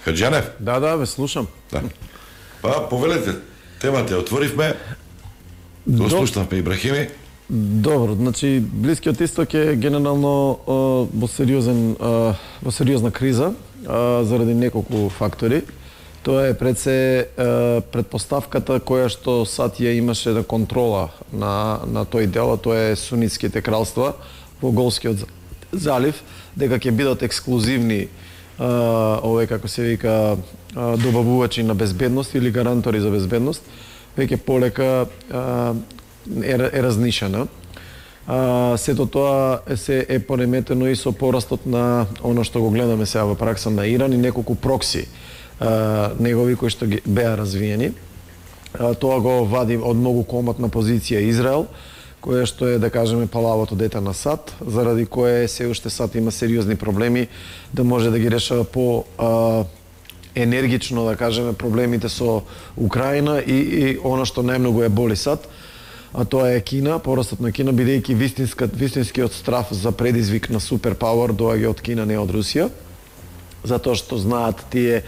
Хаджанев. Да, да, ве слушам. Да. Па повелете, темата отворивме. Го слушнавме Ибрахими. Добро, значи Блискиот исток е генерално во сериозен во сериозна криза заради неколку фактори. Тоа е пред се предпоставката која што САД ја имаше на контрола на на тој дел, тоа е сунитските кралства во Голскиот залив, дека ќе бидат ексклузивни овој, како се вика, добавувачи на безбедност или гарантори за безбедност, веќе полека е, е разнишена. А, сето тоа е, се е пореметено и со порастот на оно што го гледаме сега во пракса на Иран и неколку прокси а, негови кои што ги беа развиени. А, тоа го вади од многу коматна позиција Израел, кое што е, да кажеме, палавото дете на САД, заради кое се уште САД има сериозни проблеми да може да ги решава по а, енергично, да кажеме, проблемите со Украина и, и оно што најмногу е боли САД, а тоа е Кина, порастот на Кина, бидејќи вистинскиот страф за предизвик на суперпауер доаѓа од Кина, не од Русија, затоа што знаат тие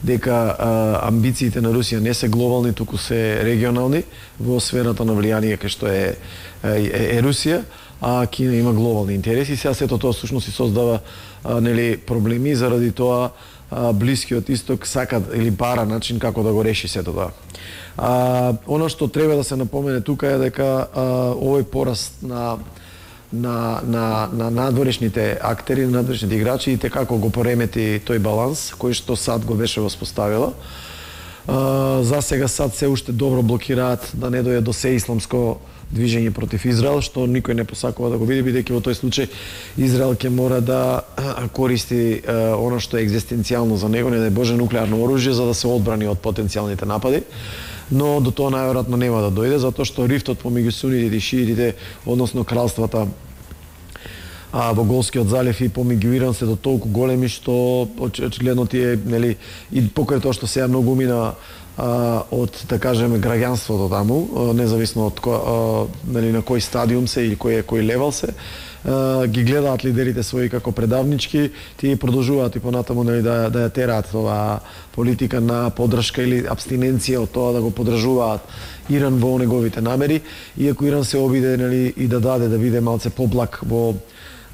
дека а, амбициите на Русија не се глобални, туку се регионални во сферата на влијание кај што е, е, е Русија, а Кина има глобални интереси. Сега сето тоа всушност и создава а, нели проблеми, заради тоа а, Блискиот исток сака или бара начин како да го реши сето тоа. А, оно што треба да се напомене тука е дека а, овој пораст на на, на, на надворешните актери, на надворешните играчи и те како го поремети тој баланс кој што САД го беше воспоставила. Uh, за сега САД се уште добро блокираат да не дојде до сеисламско движење против Израел, што никој не посакува да го види, бидејќи во тој случај Израел ќе мора да користи uh, она што е екзистенцијално за него, не дај Боже, нуклеарно оружје за да се одбрани од потенцијалните напади. Но до тоа најверојатно нема да дојде, затоа што рифтот помеѓу сунитите и шиитите, односно кралствата а, во Голскиот залив и помеѓу Иран се до толку големи што очигледно тие, нели, и покрај тоа што сега многу мина а, од, да кажеме, граѓанството таму, а, независно од кој, а, нели, на кој стадиум се или кој кој левел се, а, ги гледаат лидерите своји како предавнички, тие продолжуваат и понатаму, нели, да да ја тераат тоа политика на поддршка или абстиненција од тоа да го поддржуваат Иран во неговите намери, иако Иран се обиде, нели, и да даде да биде малце поблак во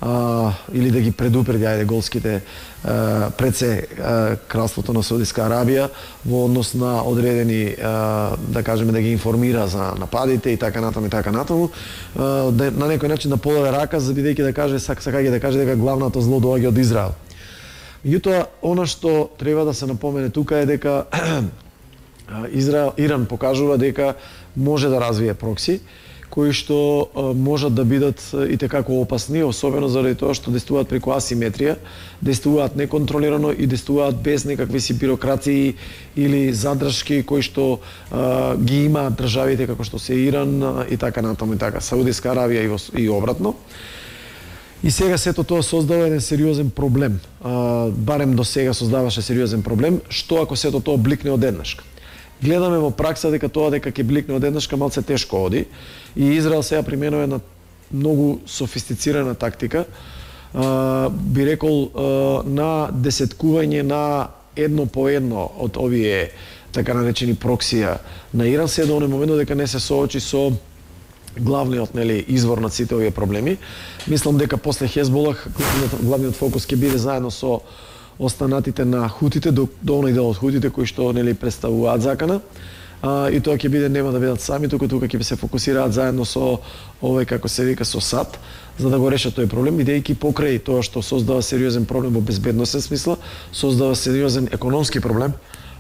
а, или да ги предупреди ајде голските а, пред се а, кралството на Саудиска Арабија во однос на одредени а, да кажеме да ги информира за нападите и така натаму и така натаму, а, да, на некој начин да подаде рака за бидејќи да каже сак сакајќи да каже дека главното зло доаѓа од Израел. Меѓутоа, она што треба да се напомене тука е дека Израел, Иран покажува дека може да развие прокси, кои што можат да бидат и tekako опасни, особено заради тоа што действуваат преку асиметрија, действуваат неконтролирано и действуваат без некакви си бирократии или задршки кои што а, ги имаат државите како што се Иран а, и така натаму и така, Саудиска Аравија и, и обратно. И сега сето тоа создава еден сериозен проблем. А, барем до сега создаваше сериозен проблем, што ако сето тоа бликне одеднаш. Гледаме во пракса дека тоа дека ќе бликне одеднашка малце тешко оди и Израел сега применува една многу софистицирана тактика, а, би рекол а, на десеткување на едно по едно од овие така наречени проксија на Иран, се до оној момент дека не се соочи со главниот, нели, извор на сите овие проблеми. Мислам дека после Хезболах главниот фокус ќе биде заедно со останатите на хутите, до, до оној дел од хутите кои што, нели, представуваат закана. А, и тоа ќе биде, нема да бидат сами, туку тука ќе се фокусираат заедно со овој, како се вика, со САД, за да го решат тој проблем, бидејќи покрај тоа што создава сериозен проблем во безбедносен смисла, создава сериозен економски проблем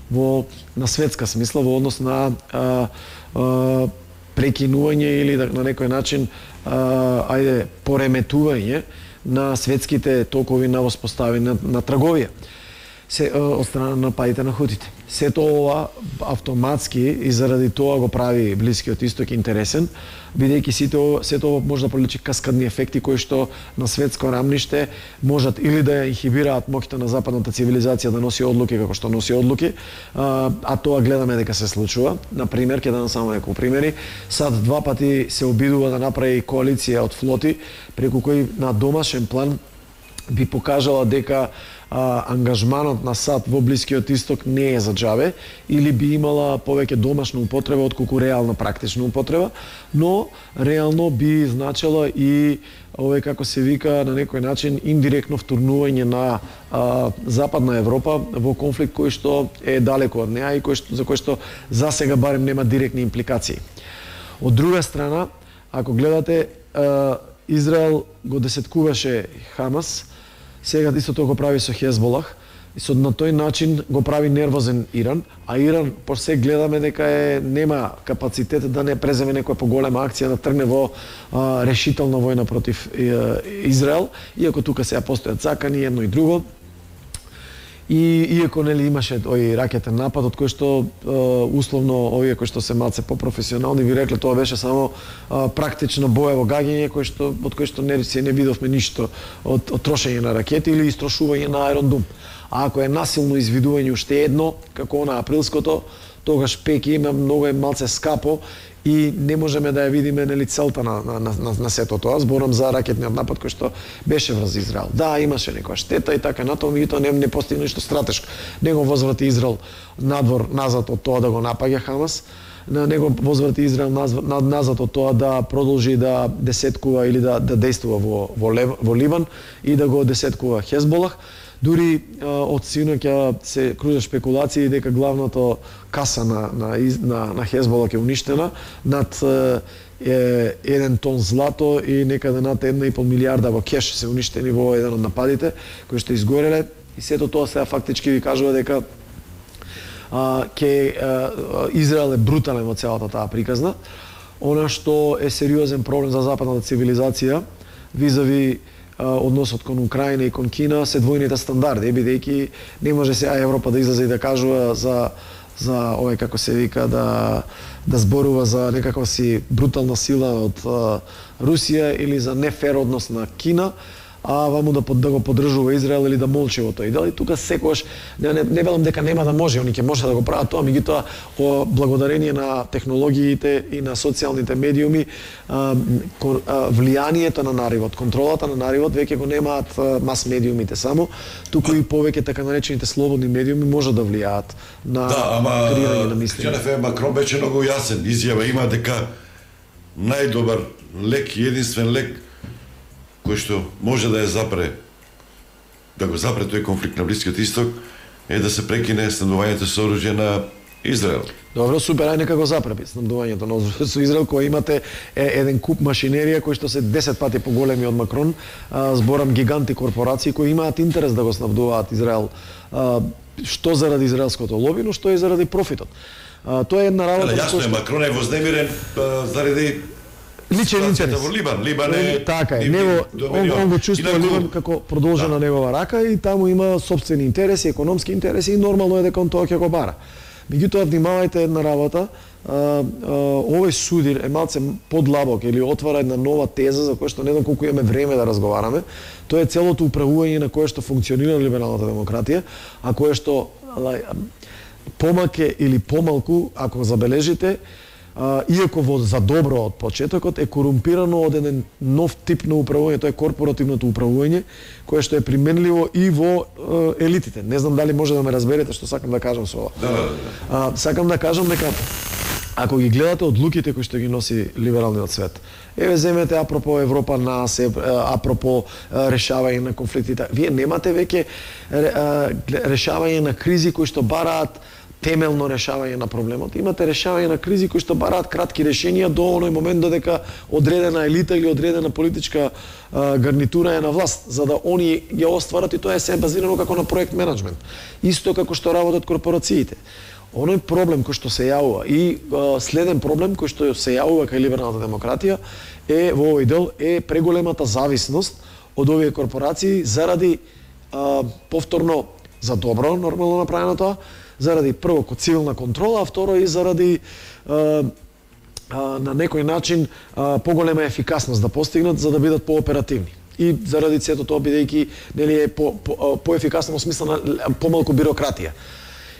во на светска смисла во однос на а, а, прекинување или да, на некој начин а, ајде пореметување на светските токови на воспоставени на, на трговија се од страна на нападите на хутите. Сето ова автоматски и заради тоа го прави Блискиот Исток интересен, бидејќи сите сето ова може да приличи каскадни ефекти кои што на светско рамниште можат или да инхибираат моќта на западната цивилизација да носи одлуки како што носи одлуки, а, а тоа гледаме дека се случува. На пример, ќе дадам само неколку примери. САД два пати се обидува да направи коалиција од флоти преку кои на домашен план би покажала дека а, ангажманот на САД во Блискиот Исток не е за џабе или би имала повеќе домашна употреба отколку реална практична употреба, но реално би значила и овој, како се вика, на некој начин индиректно втурнување на а, Западна Европа во конфликт кој што е далеко од неа и кој што, за кој што за сега барем нема директни импликации. Од друга страна, ако гледате, а, Израел го десеткуваше Хамас, сега истото го прави со Хезболах, и со на тој начин го прави нервозен Иран, а Иран по се гледаме дека е нема капацитет да не преземе некоја поголема акција да тргне во а, решителна војна против е, Израел, иако тука сега постојат закани едно и друго. И иако, нели, имаше тој ракетен напад од кој што е, условно овие кои што се малце попрофесионални ви рекле тоа беше само е, практично боево гаѓање кој што од кој што не се не видовме ништо од, од трошење на ракети или истрошување на аеродом. А ако е насилно извидување уште едно, како на априлското, тогаш пеќе има многу е малце скапо и не можеме да ја видиме, нели, целта на, на, на, на сето тоа. Зборам за ракетниот напад кој што беше врз Израел. Да, имаше некоја штета и така натаму, меѓутоа не, не постигна ништо стратешко. Не го возврати Израел надвор назад од тоа да го напаѓа Хамас, на него возврати Израел назад од тоа да продолжи да десеткува или да, да действува во, во, Лев, во Ливан и да го десеткува Хезболах. Дури од синоќа се кружат спекулации дека главната каса на, на, на, на Хезболах е уништена, над е, еден тон злато и некаде над една и пол милиарда во кеш се уништени во еден од нападите кои што изгореле и сето тоа сега фактички ви кажува дека а, ке а, Израел е брутален во целата таа приказна. Она што е сериозен проблем за западната цивилизација визави односот кон Украина и кон Кина се двојните стандарди, бидејќи не може сега Европа да излезе и да кажува за за овој како се вика да да зборува за некаква си брутална сила од а, Русија или за нефер однос на Кина, а ваму да, да го поддржува Израел или да молчи во тој дел. И тука секогаш не, не, не велам дека нема да може, они ќе може да го прават тоа, меѓутоа о благодарение на технологиите и на социјалните медиуми а, ко, а, влијанието на наривот, контролата на наривот веќе го немаат а, мас медиумите само, туку и повеќе така наречените слободни медиуми може да влијаат на да, ама, креирање на мислење. Џефе Макрон беше многу јасен, изјава има дека најдобар лек и единствен лек кој што може да ја запре, да го запре тој конфликт на Блискиот Исток, е да се прекине снабдувањето со оружје на Израел. Добро, супер, ај нека го запре снабдувањето на со Израел, кој имате е, еден куп машинерија кои што се десет пати поголеми од Макрон, а, зборам гиганти корпорации кои имаат интерес да го снабдуваат Израел, а, што заради израелското лоби, но што и заради профитот. А, тоа е една работа. Јасно е, Макрон е вознемирен а, заради личен интерес во Либан. Либан е така е, него он, он го чувствува Либан како продолжена да. негова рака и таму има сопствени интереси, економски интереси и нормално е дека он тоа ќе го бара. Меѓутоа внимавајте една работа, а, а, овој судир е малце подлабок или отвара една нова теза за која што не знам колку имаме време да разговараме. Тоа е целото управување на кое што функционира либералната демократија, а кое што помаке или помалку, ако забележите, Uh, иако во за добро од почетокот е корумпирано од еден нов тип на управување, тоа е корпоративното управување, кое што е применливо и во uh, елитите. Не знам дали може да ме разберете што сакам да кажам со ова. Да, да, да. Uh, сакам да кажам дека ако ги гледате одлуките кои што ги носи либералниот свет, еве земете апропо Европа нас, апропо решавање на конфликтите, вие немате веќе решавање на кризи кои што бараат темелно решавање на проблемот. Имате решавање на кризи кои што бараат кратки решенија до оној момент додека одредена елита или одредена политичка а, гарнитура е на власт, за да они ја остварат, и тоа е се базирано како на проект менеджмент. Исто како што работат корпорациите. Оној проблем кој што се јавува и а, следен проблем кој што се јавува кај либералната демократија е во овој дел е преголемата зависност од овие корпорации заради а, повторно за добро нормално направено тоа, заради прво ко цивилна контрола, а второ и заради а, а, на некој начин а, поголема ефикасност да постигнат за да бидат пооперативни. И заради сето тоа бидејќи нели е по, по, поефикасно во смисла на помалку бирократија.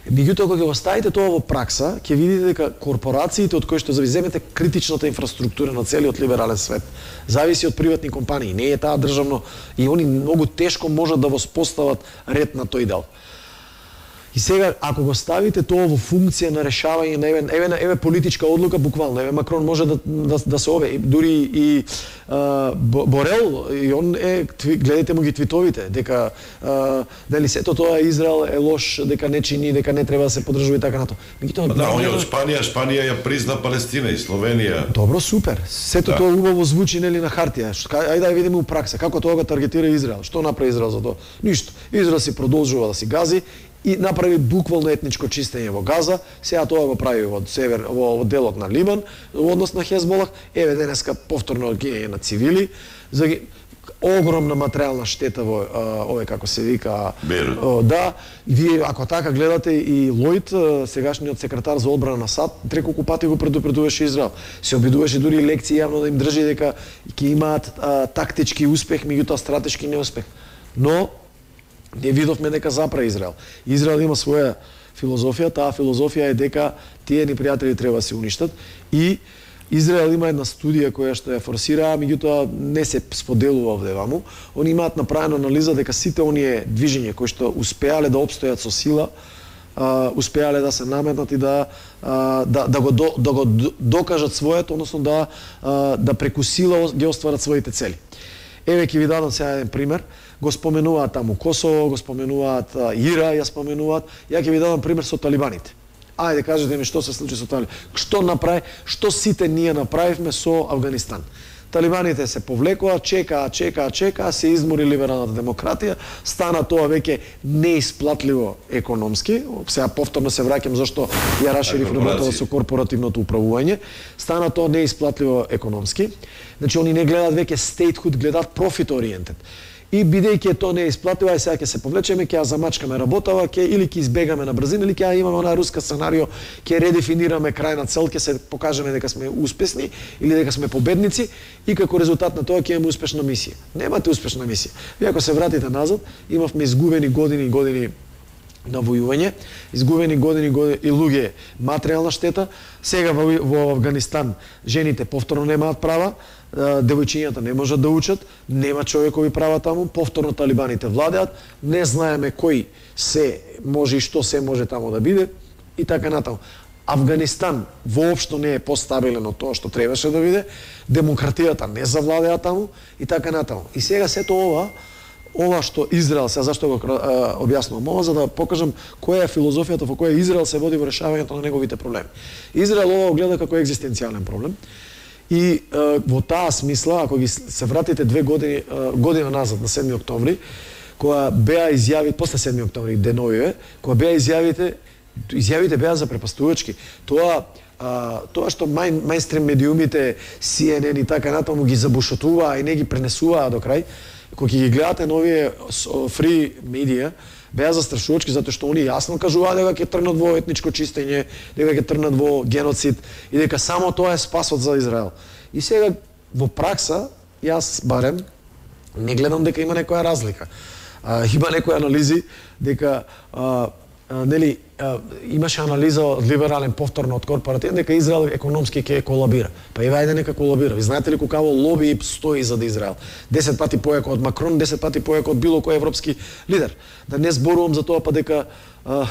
Меѓутоа кога го ставите тоа во пракса, ќе видите дека корпорациите од кои што зависимете критичната инфраструктура на целиот либерален свет зависи од приватни компании, не е таа државно и они многу тешко можат да воспостават ред на тој дел. И сега, ако го ставите тоа во функција на решавање на еве, еве, еве политичка одлука, буквално, еве Макрон може да, да, да се ове, дури и а, Борел, и он е, гледайте му ги твитовите, дека а, дали сето тоа Израел е лош, дека не чини, дека не треба да се поддржува и така нато. Тоа, да, он е од Шпанија, Шпанија ја призна Палестина и Словенија. Добро, супер. Сето да. Тоа убаво звучи нели на хартија. Ајде да видиме у пракса како тоа го таргетира Израел. Што направи Израел за тоа? Ништо. Израел си продолжува да си гази и направи буквално етничко чистење во Газа, сега тоа го прави во север, во делот на Либан, во однос на Хезболах, еве денеска повторно гинење на цивили, за огромна материјална штета во овој како се вика о, да, вие ако така гледате и Лојд, сегашниот секретар за одбрана на САД, треколку пати го предупредуваше Израел. Се обидуваше дури лекции јавно да им држи дека ќе имаат а, тактички успех, меѓутоа стратешки неуспех. Но не видовме дека запра Израел. Израел има своја филозофија, таа филозофија е дека тие ни пријатели треба да се уништат и Израел има една студија која што ја форсира, меѓутоа не се споделува овде ваму. Они имаат направена анализа дека сите оние движења кои што успеале да обстојат со сила, а, успеале да се наметнат и да а, да, да го до, да го докажат своето, односно да а, да преку сила ги остварат своите цели. Еве ќе ви дадам сега еден пример. Го споменуваат таму Косово, го споменуваат Ира, ја споменуваат. Ја ќе ви дадам пример со талибаните. Ајде, кажете ми што се случи со Талибан. Што направи, што сите ние направивме со Афганистан. Талибаните се повлекоа, чекаа, чекаа, чекаа, се измори либералната демократија, стана тоа веќе неисплатливо економски. Сега повторно се враќам зашто ја расширив работата со корпоративното управување. Стана тоа неисплатливо економски. Значи они не гледаат веќе statehood, гледаат profit oriented. И бидејќи тоа не е исплативо, ај сега ќе се повлечеме, ќе ја замачкаме работава, ќе или ќе избегаме на брзина, или ќе ја имаме онаа руска сценарио, ќе редефинираме крајна цел, ќе се покажеме дека сме успесни или дека сме победници и како резултат на тоа ќе имаме успешна мисија. Немате успешна мисија. Вие ако се вратите назад, имавме изгубени години и години на војување, изгубени години, години и луѓе материјална штета. Сега во, во Афганистан жените повторно немаат права, девојчињата не можат да учат, нема човекови права таму, повторно талибаните владеат, не знаеме кој се може и што се може таму да биде и така натаму. Афганистан воопшто не е постабилен од тоа што требаше да биде, демократијата не завладеа таму и така натаму. И сега сето ова ова што Израел, сега зашто го објаснувам ова, за да покажам која е филозофијата во која Израел се води во решавањето на неговите проблеми. Израел ова го гледа како екзистенцијален проблем. И е, во таа смисла, ако ги се вратите две години, е, година назад, на седми октомври, која беа изјави, после седми октомври, деновиве, која беа изјавите, изјавите беа запрепастувачки. Тоа, а, тоа што мајн, мајнстрим медиумите, Си Ен Ен и така натаму ги забушотуваа и не ги пренесуваа до крај, кога ги гледате новие фри медија, беа застрашувачки затоа што они јасно кажуваа дека ќе тргнат во етничко чистење, дека ќе тргнат во геноцид и дека само тоа е спасот за Израел. И сега во пракса јас барем не гледам дека има некоја разлика. А, има некои анализи дека а, а, нели а, имаше анализа од либерален повторно од корпоративен дека Израел економски ќе колабира. Па и вајде нека колабира. Ви знаете ли колкаво лоби стои за да Израел? десет пати поеко од Макрон, десет пати поеко од било кој европски лидер. Да не зборувам за тоа па дека а,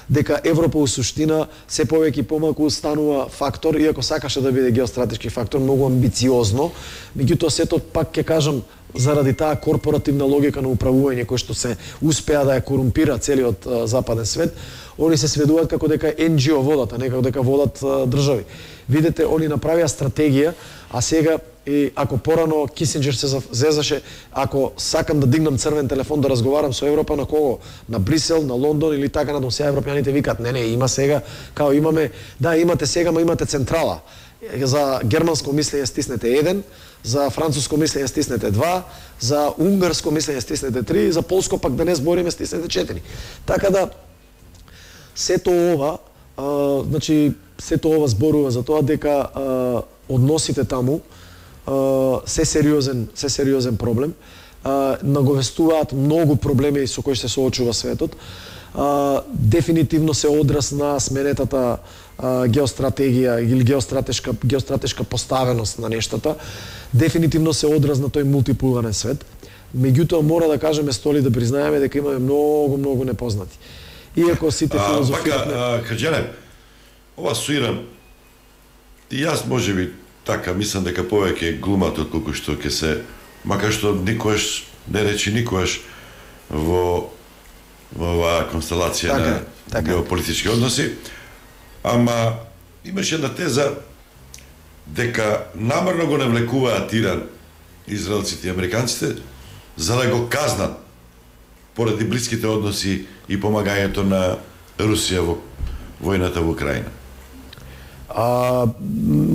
дека Европа у суштина се повеќе и помалку станува фактор, иако сакаше да биде геостратешки фактор, многу амбициозно. Меѓутоа сето пак ќе кажам заради таа корпоративна логика на управување кој што се успеа да ја корумпира целиот а, западен свет, они се сведуваат како дека Ен Джи О водат, а не како дека водат а, држави. Видете, они направија стратегија, а сега и ако порано Кисинџер се зезаше, ако сакам да дигнам црвен телефон да разговарам со Европа, на кого? На Брисел, на Лондон или така натаму. Сега европјаните викаат, не, не, има сега, као имаме, да, имате сега, ма имате централа. За германско мислење стиснете еден, за француско мислење стиснете два, за унгарско мислење стиснете три, за полско пак да не збориме стиснете четири. Така да, сето ова, а, значи, сето ова зборува за тоа дека а, односите таму а, се сериозен, се сериозен проблем, а, наговестуваат многу проблеми со кои се соочува светот. А, дефинитивно се одраз на сменетата а, геостратегија или геостратешка геостратешка поставеност на нештата. Дефинитивно се одраз на тој мултиполарен свет. Меѓутоа мора да кажеме столи да признаеме дека имаме многу многу непознати. Иако сите филозофират... А, Хаџане, ова со Иран, и јас можеби така мислам дека повеќе глумат отколку што ќе се, макар што никош не речи никош во во оваа констелација така, на така. геополитички односи, ама имаше една теза дека намерно го навлекуваат Иран, израелците и американците, за да го казнат поради блиските односи и помагањето на Русија во војната во Украина. А,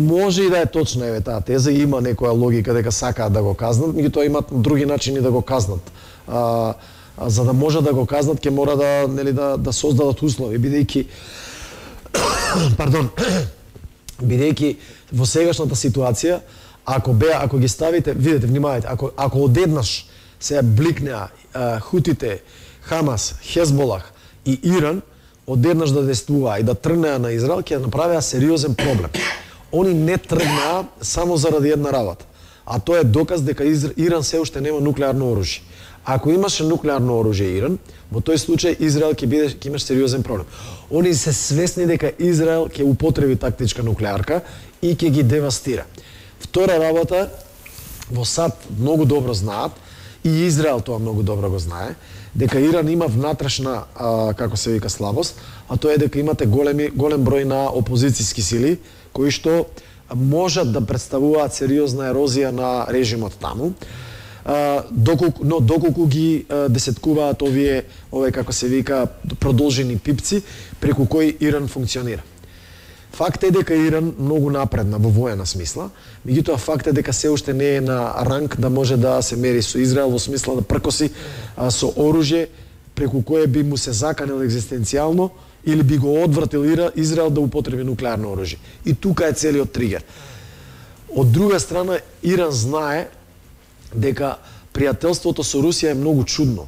може и да е точна еве таа теза, има некоја логика дека сакаат да го казнат, меѓутоа имат други начини да го казнат. А, а за да може да го казнат, ќе мора да нели да да создадат услови, бидејќи пардон, бидејќи во сегашната ситуација, ако беа, ако ги ставите, видете, внимавајте, ако ако одеднаш се бликнеа хутите, Хамас, Хезболах и Иран, одеднаш да действуваа и да тргнеа на Израел, ќе направеа сериозен проблем. Они не тргнаа само заради една работа, а тоа е доказ дека Иран се уште нема нуклеарно оружје. Ако имаше нуклеарно оружје Иран, во тој случај Израел ќе биде ќе имаш сериозен проблем. Они се свесни дека Израел ќе употреби тактичка нуклеарка и ќе ги девастира. Втора работа, во САД многу добро знаат и Израел тоа многу добро го знае, дека Иран има внатрешна, а, како се вика, слабост, а тоа е дека имате големи, голем број на опозицијски сили, кои што можат да представуваат сериозна ерозија на режимот таму. Uh, доколку, но доколку ги uh, десеткуваат овие, овие, како се вика, продолжени пипци, преку кои Иран функционира. Факт е дека Иран многу напредна во воена смисла, меѓутоа факт е дека се уште не е на ранг да може да се мери со Израел во смисла да пркоси uh, со оружје преку кое би му се заканел екзистенцијално или би го одвратил Израел да употреби нуклеарно оружје. И тука е целиот тригер. Од друга страна, Иран знае дека пријателството со Русија е многу чудно.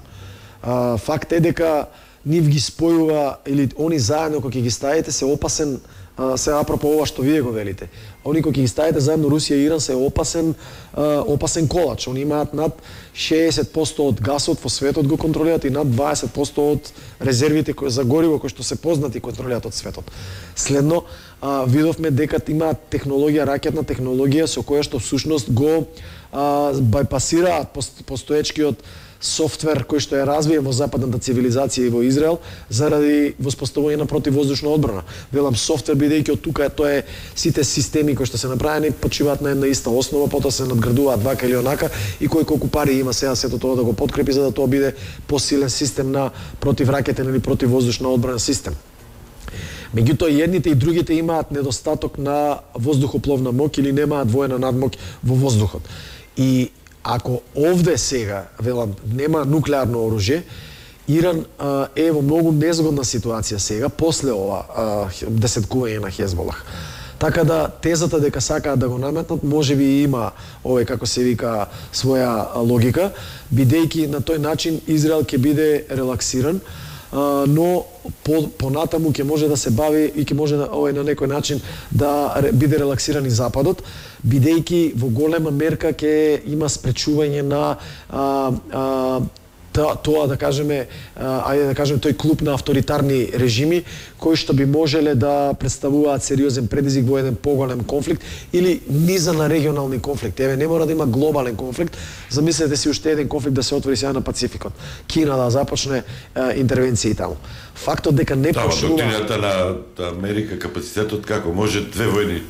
А, факт е дека нив ги спојува, или они заедно кога ги ставите се опасен, а, се апропо ова што вие го велите. Они кога ги ставите заедно Русија и Иран се опасен, а, опасен колач. Они имаат над шеесет проценти од гасот во светот го контролираат и над дваесет проценти од резервите кои за гориво кои што се познати контролираат од светот. Следно, а, видовме дека имаат технологија, ракетна технологија со која што всушност го а, бајпасираат постоечкиот софтвер кој што е развиен во западната цивилизација и во Израел заради воспоставување на противвоздушна одбрана. Велам софтвер бидејќи од тука тоа е сите системи кои што се направени почиваат на една иста основа, потоа се надградуваат вака или онака и кој колку пари има сега сето тоа да го подкрепи за да тоа биде посилен систем на противракетен или противвоздушна одбрана систем. Меѓутоа, едните и другите имаат недостаток на воздухопловна моќ или немаат воена надмоќ во воздухот. И ако овде сега, велам, нема нуклеарно оружје, Иран а, е во многу незгодна ситуација сега, после ова а, десеткување на Хезболах. Така да, тезата дека сакаат да го наметнат, може би има, овој, како се вика, своја логика, бидејќи на тој начин Израел ќе биде релаксиран, а, но по, понатаму ќе може да се бави и ќе може да, овој, на некој начин да биде релаксиран и Западот, бидејќи во голема мерка ќе има спречување на а, а, тоа да кажеме, ајде да кажеме тој клуб на авторитарни режими кои што би можеле да представуваат сериозен предизвик во еден поголем конфликт или низа на регионални конфликти. Еве не мора да има глобален конфликт. Замислете си уште еден конфликт да се отвори сега на Пацификот. Кина да започне е, интервенции таму. Фактот дека не да, пошлува... доктрината на Америка, капацитетот како може две војни.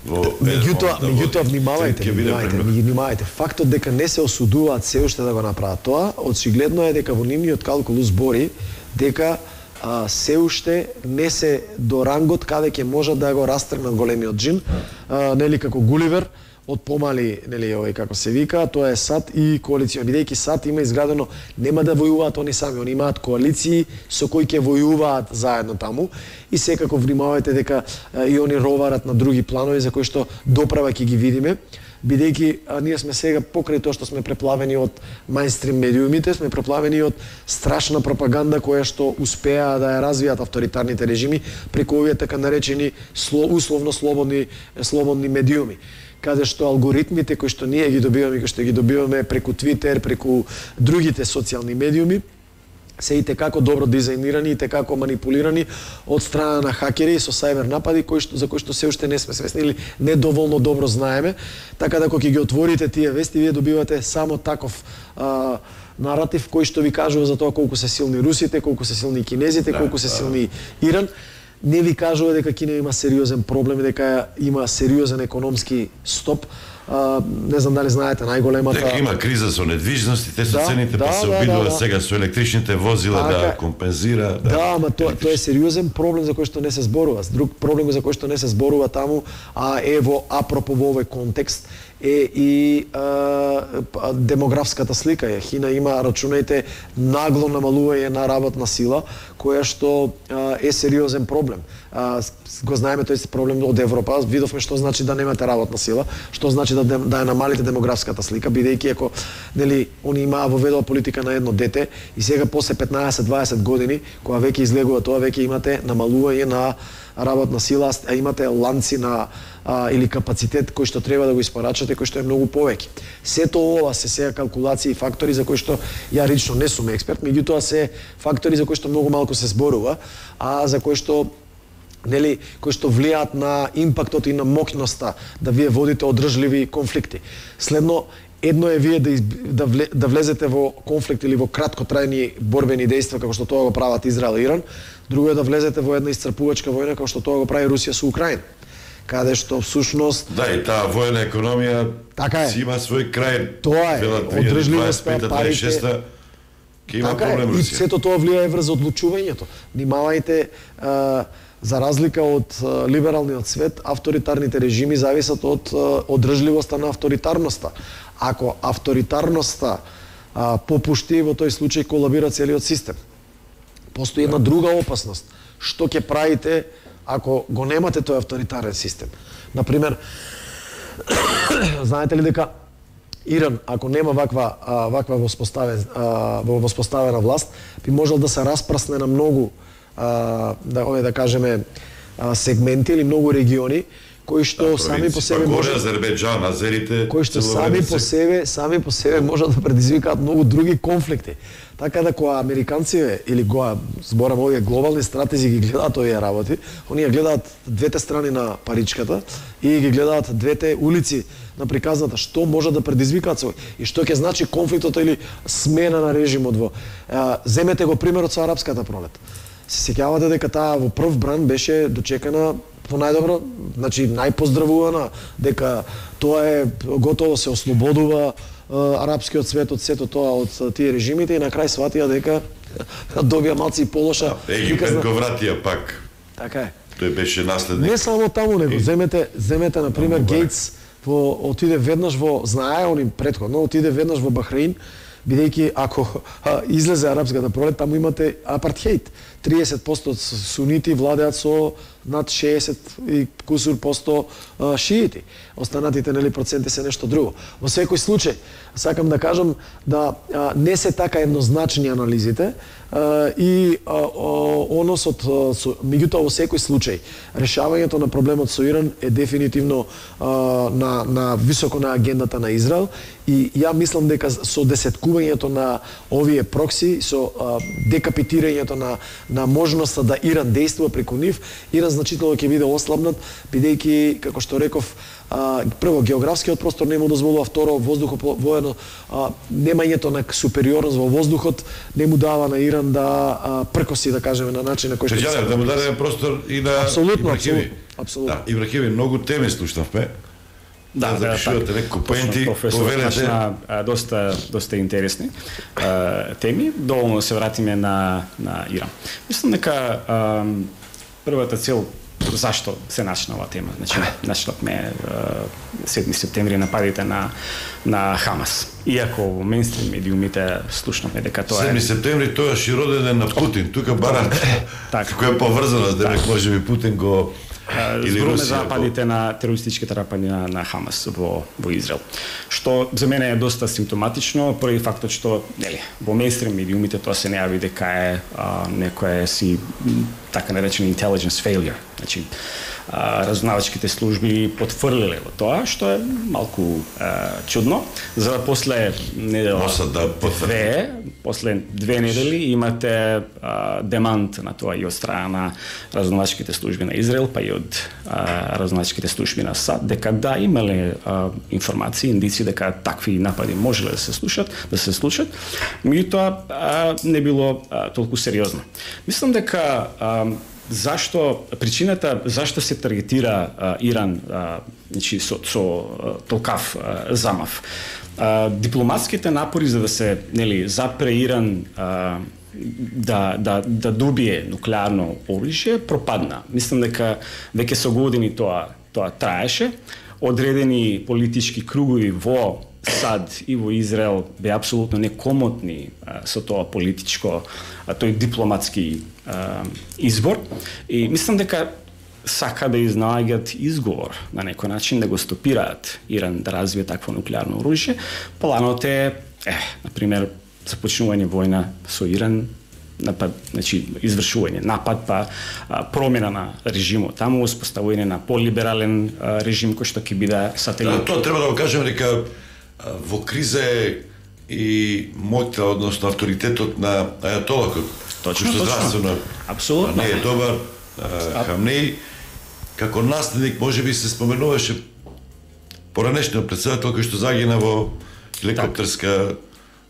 Меѓутоа, меѓутоа внимавајте, внимавајте, внимавајте. Фактот дека не се осудуваат се уште да го направат тоа, очигледно е дека во нивниот калкул збори дека а, се уште не се до рангот каде ќе можат да го растргнат големиот џин, а, нели како Гуливер, од помали, нели, овој како се вика, тоа е САД и коалиција. Бидејќи САД има изградено, нема да војуваат они сами, они имаат коалиции со кои ќе војуваат заедно таму и секако внимавајте дека а, и они роварат на други планови за кои што доправа ќе ги видиме, бидејќи ние сме сега покрај тоа што сме преплавени од мајнстрим медиумите, сме преплавени од страшна пропаганда која што успеа да ја развијат авторитарните режими преку овие така наречени условно слободни слободни медиуми, каде што алгоритмите кои што ние ги добиваме, кои што ги добиваме преку Твитер, преку другите социјални медиуми, се и текако добро дизајнирани и текако манипулирани од страна на хакери со сајбер напади кои што, за кои што се уште не сме свесни или недоволно добро знаеме, така да кога ги отворите тие вести, вие добивате само таков а, наратив кој што ви кажува за тоа колку се силни русите, колку се силни кинезите, да, колку се силни Иран. Не ви кажува дека Кина има сериозен проблем, дека има сериозен економски стоп. А, не знам дали знаете, најголемата... Дека има криза со недвижности, те со да, цените, да, па се да, обидува да, да. сега со електричните возила така, да компензира. Да, да ама тоа, тоа е сериозен проблем за кој што не се зборува. Друг проблем за кој што не се зборува таму, а е во апропо во овој контекст, е и а, демографската слика. Кина има, рачунајте, нагло намалување на работна сила, која што а, е сериозен проблем. А, го знаеме тој проблем од Европа, видовме што значи да немате работна сила, што значи да да ја намалите демографската слика, бидејќи ако нели они имаа воведува политика на едно дете и сега после петнаесет-дваесет години, кога веќе излегува тоа, веќе имате намалување на работна сила, а имате ланци на а, или капацитет кој што треба да го испорачате, кој што е многу повеќе. Сето ова се сега калкулации и фактори за кои што ја лично не сум експерт, меѓутоа се фактори за кои што многу малку се зборува, а за кои што нели, кои што влијаат на импактот и на моќноста да вие водите одржливи конфликти. Следно, едно е вие да, изб... да, вле... да влезете во конфликт или во краткотрајни борбени дејства како што тоа го прават Израел и Иран, друго е да влезете во една исцрпувачка војна како што тоа го прави Русија со Украина, каде што всушност да, и таа војна економија така си има свој крај. Тоа е одржливоста, парите. Ке има така проблем е, и Русија. сето тоа влијае врз одлучувањето. Внимавајте, за разлика од либералниот свет, авторитарните режими зависат од одржливоста на авторитарноста. Ако авторитарноста а, попушти, во тој случај колабира целиот систем. Постои една друга опасност. Што ќе правите ако го немате тој авторитарен систем? Например, знаете ли дека Иран, ако нема ваква а, ваква воспоставен а, воспоставена власт, би можел да се распрсне на многу а, да ове да кажеме а, сегменти или многу региони кои што да, сами по себе може Азербејџан, азерите, кои што сами по себе, сами по себе можат да предизвикаат многу други конфликти. Така да кога американците или го зборам овие глобални стратези ги гледаат овие работи, оние гледаат двете страни на паричката и ги гледаат двете улици на приказната, што може да предизвикаат свој и што ќе значи конфликтот или смена на режимот во. А, земете го примерот со арапската пролет. Се сеќавате дека таа во прв бран беше дочекана по најдобро, значи најпоздравувана, дека тоа е готово се ослободува арапскиот свет од сето тоа од тие режимите и на крај сватија дека добија малци и полоша. Египет го вратија пак. Така е. Тој беше наследник. Не само таму, него земете, земете на пример Гейтс во отиде веднаш во, знае они претходно, отиде веднаш во Бахрейн, бидејќи ако а, излезе арапската пролет, таму имате апартхејд. триесет проценти од сунити владеат со над шеесет и кусур посто а, шиити. Останатите нели проценти се нешто друго. Во секој случај, сакам да кажам да а, не се така еднозначни анализите а, и а, о, односот со, меѓутоа во секој случај решавањето на проблемот со Иран е дефинитивно а, на на високо на агендата на Израел и ја мислам дека со десеткувањето на овие прокси, со а, декапитирањето на на можноста да Иран действува преку нив, Иран значително ќе биде ослабнат, бидејќи, како што реков, а, прво, географскиот простор не му дозволува, второ, воздухот воено, а, немањето на супериорност во воздухот не му дава на Иран да а, пркоси, да кажеме, на начин на кој што... Прежале, да му дадеме простор и на абсолютно, Ибрахими. Абсолютно. Да, Ибрахими, многу теми слушнавме. Да, да, да, така. Некој поенти, повелете. Доста, доста интересни а, теми. Доволно се вратиме на, на Иран. Мислам дека а, првата цел зашто се начна оваа тема. Значи, начнавме седми септември нападите на на Хамас. Иако во мејнстрим медиумите слушнавме дека тоа е седми септември тоа е роденден на Путин. Тука барат кој е поврзано, дека можеби Путин го зборуваме за нападите на терористичките напади на, на Хамас во во Израел. Што за мене е доста симптоматично, поради фактот што нели во мејнстрим медиумите тоа се најави дека е а, некоја си така наречен intelligence failure. Значи разузнавачките служби потврлиле во тоа, што е малку а, чудно, за да после недела да две, после две недели имате а, демант на тоа и од страна на разузнавачките служби на Израел, па и од разузнавачките служби на САД, дека да имале а, информации, индици дека такви напади можеле да се слушат, да се случат, меѓутоа не било а, толку сериозно. Мислам дека а, зашто причината зашто се таргетира а, Иран а, значи со, со а, толкав а, замав. А, дипломатските напори за да се нели запре Иран а, да да да добие нуклеарно оружје пропадна. Мислам дека веќе со години тоа тоа траеше. Одредени политички кругови во САД и во Израел бе апсолутно некомотни а, со тоа политичко, а, тој дипломатски а, избор и мислам дека сака да изнаоѓаат изговор на некој начин да го стопираат Иран да развие такво нуклеарно оружје. Планот е, е, например, започнување војна со Иран, напад, значи извршување напад па а, промена на режимот таму, успоставување на полиберален а, режим кој што ќе биде сателит. Да, тоа треба да го кажеме дека во криза е и моќта, односно авторитетот на ајатолакот. Точно, што точно. Здравствено, апсолутно. Не е добар. Хамнеи, како наследник, може би се споменуваше поранешниот председател кој што загина во хеликоптерска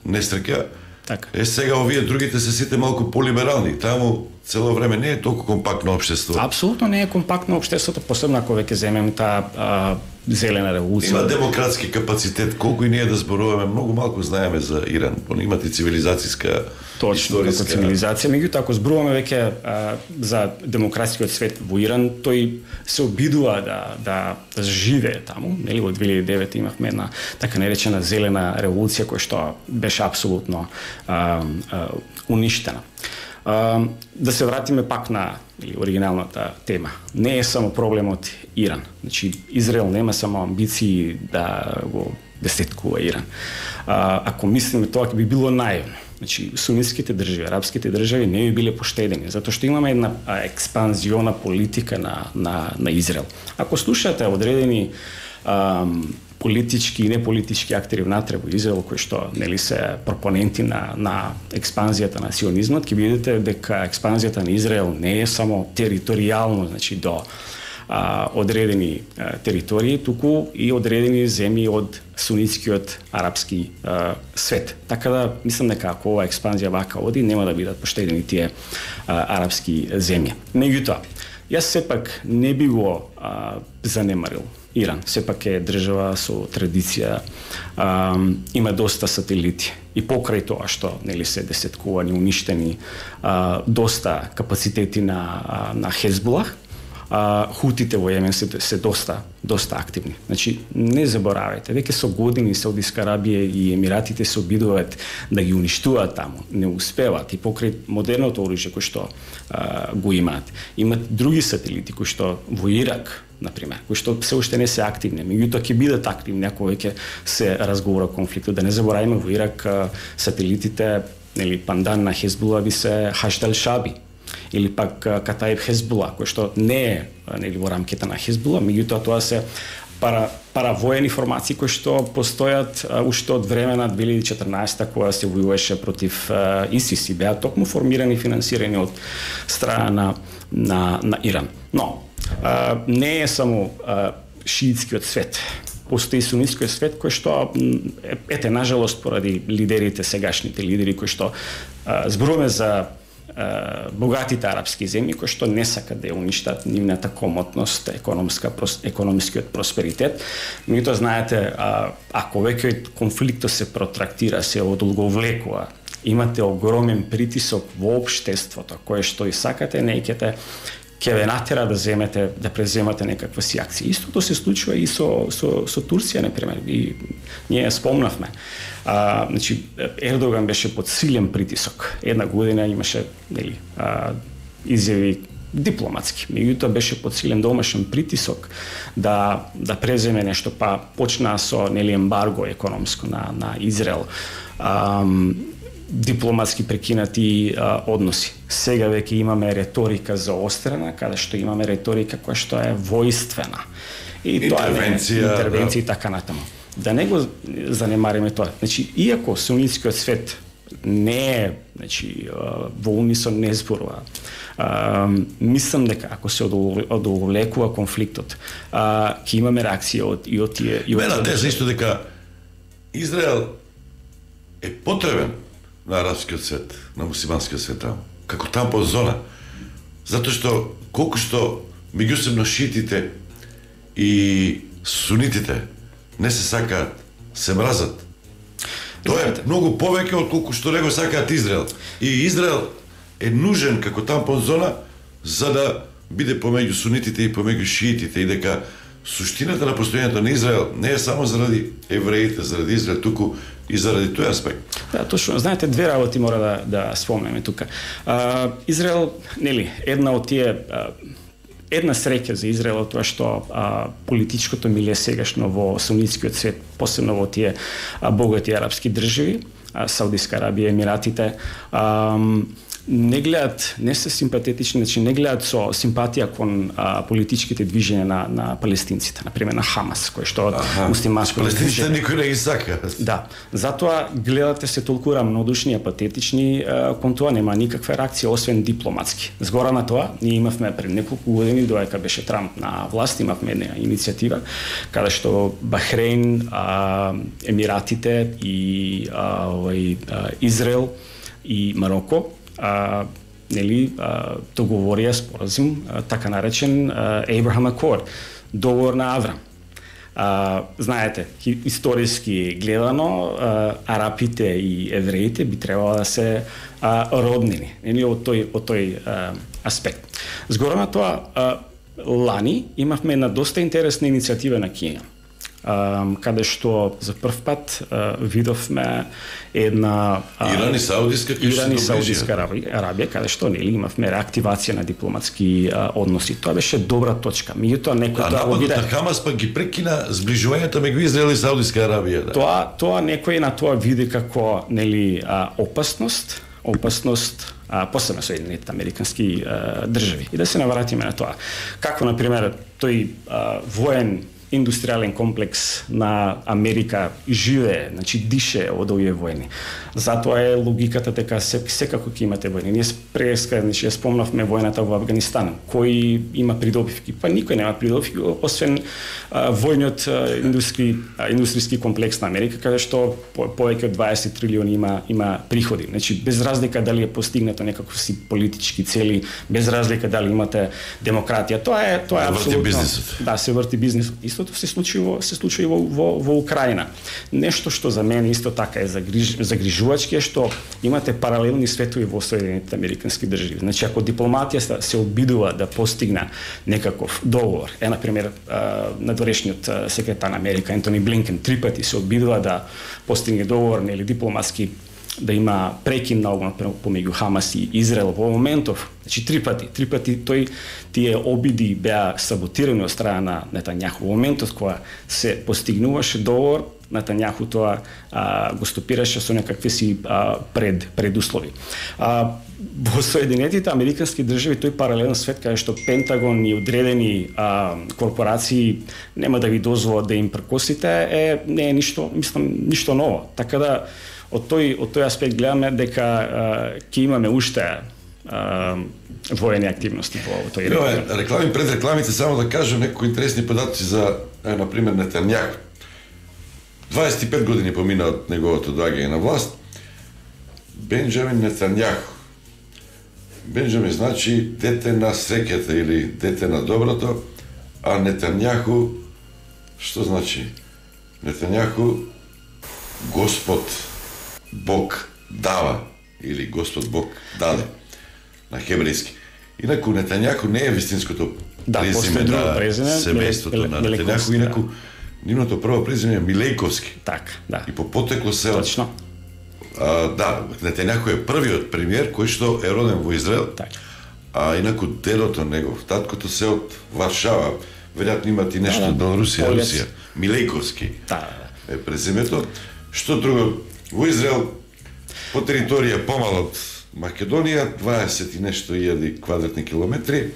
несреќа. Така. Е, сега овие другите се сите малку полиберални. Таму цело време не е толку компактно општество. Апсолутно не е компактно општеството, посебно ако веќе земеме таа а, зелена револуција. Има демократски капацитет, колку и ние да зборуваме, многу малку знаеме за Иран. Имат и цивилизацијска Точно, како цивилизација. Меѓутоа, ако зборуваме веќе а, за демократскиот свет во Иран, тој се обидува да да, да живее таму. Нели во две илјади и девета имавме една така наречена зелена револуција која што беше апсолутно а, а, уништена. Uh, да се вратиме пак на или, оригиналната тема. Не е само проблемот Иран. Значи, Израел нема само амбиции да го десеткува Иран. Uh, ако мислиме тоа, би било наивно. Значи, сунитските држави, арапските држави не би биле поштедени, затоа што имаме една а, експанзиона политика на, на, на Израел. Ако слушате одредени um, политички и неполитички актери внатре во Израел кои што нели се пропоненти на на експанзијата на сионизмот, ќе видите дека експанзијата на Израел не е само територијално, значи до а, одредени а, територии, туку и одредени земји од сунитскиот арапски а, свет. Така да мислам дека ако оваа експанзија вака оди, нема да бидат поштедени тие а, арапски земји. Меѓутоа, јас сепак не би го а, занемарил Иран. Сепак е држава со традиција, а, има доста сателити. И покрај тоа што нели се десеткувани, уништени, а, доста капацитети на на Хезбулах, а, хутите во Јемен се, се доста доста активни. Значи не заборавајте, веќе со години Саудиска Арабија и Емиратите се обидуваат да ги уништуваат таму, не успеваат и покрај модерното оружје кој што а, го имаат. Имат други сателити кои што во Ирак, например, кои што се уште не се активни, меѓутоа ќе бидат активни ако веќе се разговара конфликтот. Да не забораваме во Ирак а, сателитите, нели пандан на Хезбула би се Хаштал Шаби или пак Катаиб Хезбула, кој што не е нели во рамките на Хезбула, меѓутоа тоа се пара паравоени формации кои што постојат а, уште од време на две илјади и четрнаесета кога се војуваше против а, ИСИС и беа токму формирани и финансирани од страна на на, на Иран. Но а, не е само а, шиитскиот свет. Постои сунитскиот свет кој што ете нажалост поради лидерите, сегашните лидери кои што а, зборуваме за богатите арапски земји кои што не сакат да ја уништат нивната комотност, економска економскиот просперитет. Меѓутоа знаете, а, ако веќе конфликтот се протрактира, се одолговлекува, имате огромен притисок во општеството, кое што и сакате, не ќе ќе ве натера да земете, да преземате некаква си акција. Истото се случува и со со со Турција, например, и ние спомнавме. А, значи Ердоган беше под силен притисок. Една година имаше нели а, изјави дипломатски. Меѓутоа беше под силен домашен притисок да да преземе нешто, па почна со нели ембарго економско на на Израел. А, дипломатски прекинати а, односи. Сега веќе имаме реторика заострена, каде што имаме реторика која што е војствена. И тоа е интервенција и така натаму. Да не го занемариме тоа. Значи, иако сунитскиот свет не е, значи, во унисон не зборува, мислам дека ако се одолговлекува конфликтот, ќе имаме реакција од и од тие и од Мене теза исто дека Израел е потребен на арапскиот свет, на мусиманскиот свет таму, како тампон зона. Затоа што колку што меѓусебно шиитите и сунитите не се сакаат, се мразат. Тоа е многу повеќе од колку што него сакаат Израел. И Израел е нужен како тампон зона за да биде помеѓу сунитите и помеѓу шиитите и дека суштината на постојањето на Израел не е само заради евреите, заради Израел, туку и заради тој аспект. Да, точно. Знаете, две работи мора да да спомнеме тука. А, Израел, нели, една од тие а, една среќа за Израел тоа што а, политичкото милие сегашно во сунитскиот свет, посебно во тие а, богати арапски држави, а, Саудиска Арабија, Емиратите, а, не гледат, не се симпатетични, значи не гледат со симпатија кон а, политичките движења на на палестинците, на пример на Хамас, кој што од муслиманско палестинците никој не ги сака. Да, затоа гледате се толку рамнодушни, апатетични, а, кон тоа нема никаква реакција освен дипломатски. Згора на тоа, ние имавме пред неколку години додека беше Трамп на власт, имавме една иницијатива каде што Бахрейн, а, Емиратите и а, овој а, Израел и Мароко а, нели а, договорија споразум, а, така наречен а, Abraham Accord, договор на Аврам. А, знаете, историски гледано, а, арапите и евреите би требало да се а, роднини, нели од тој од тој а, аспект. Згора на тоа, а, лани имавме една доста интересна иницијатива на Кина, каде што за прв пат а, видовме една а, Иран и Саудиска Иран и Саудиска Арабија, Арабија, каде што нели имавме реактивација на дипломатски а, односи. Тоа беше добра точка. Меѓутоа некој тоа го биде... Хамас пак ги прекина зближувањето меѓу Израел и Саудиска Арабија. Да. Тоа тоа некој на тоа види како нели а, опасност, опасност а, посебно Соединетите американски а, држави. И да се навратиме на тоа. Како на пример тој а, воен индустријален комплекс на Америка живее, значи дише од овие војни. Затоа е логиката дека секако ќе имате војни. Ние преска, значи ја спомнавме војната во Афганистан. Кој има придобивки? Па никој нема придобивки освен а, војниот а, индустри, а, индустријски комплекс на Америка, каде што по, повеќе од дваесет трилиони има има приходи. Значи без разлика дали е постигнато некакви си политички цели, без разлика дали имате демократија. Тоа е тоа е апсолутно. Да, се врти бизнисот. Истото се случи во се случи во во, во Украина. Нешто што за мене исто така е загриж, загрижувачки е што имате паралелни светови во Соединетите американски држави. Значи ако дипломатија се обидува да постигне некаков договор, е на пример надворешниот секретар на Америка Ентони Блинкен три пати се обидува да постигне договор нели дипломатски, да има прекин на огнот помеѓу Хамас и Израел во моментов, значи три пати, три пати тој тие обиди беа саботирани од страна на Нетањаху. Во моментот кога се постигнуваше договор, Нетањаху тоа а, го стопираше со некакви си а, пред предуслови. А, во Соединетите американски држави тој паралелен свет каде што Пентагон и одредени а, корпорации нема да ви дозволат да им прекосите е не е ништо, мислам, ништо ново. Така да од тој од тој аспект гледаме дека ќе имаме уште а, воени активности во тој регион. Реклами пред рекламите, само да кажам некои интересни податоци за на пример Нетањаху. дваесет и пет години помина од неговото доаѓање на власт. Бенџамин Нетањаху. Бенџамин значи дете на среќата или дете на доброто, а Нетањаху што значи? Нетањаху Господ Бог дава или Господ Бог даде на хебрејски. Инаку Нетањаху не е вистинското да, презиме на семејството на Нетањаху, инаку нивното прво презиме е Милејковски. Така, да. И по потекло се Точно. А, да, Нетањаху е првиот премиер кој што е роден во Израел. Так. А инаку дедото негов, таткото се од Варшава, веројатно имат и нешто од да, Белорусија, Русија. Милејковски. Да, да. Е презимето. Што друго? Во Израел по територија помало од Македонија, дваесет и нешто илјади квадратни километри,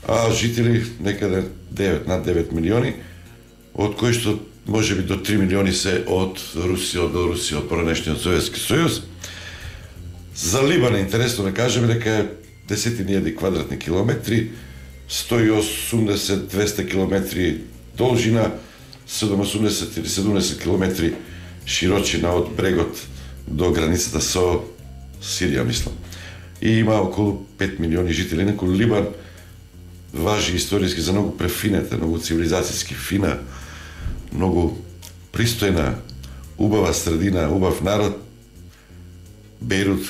а жители некаде девет, над девет милиони, од кои што можеби до три милиони се од Русија, од Белорусија, од поранешниот Советски сојуз. За Либан е интересно да кажеме дека е десетини илјади квадратни километри, сто и осумдесет до двесте километри должина, седумдесет или седумдесет километри широчина од брегот до границата со Сирија, мислам. И има околу пет милиони жители. Инаку Либан важи историски за многу префинета, многу цивилизацијски фина, многу пристојна, убава средина, убав народ. Бејрут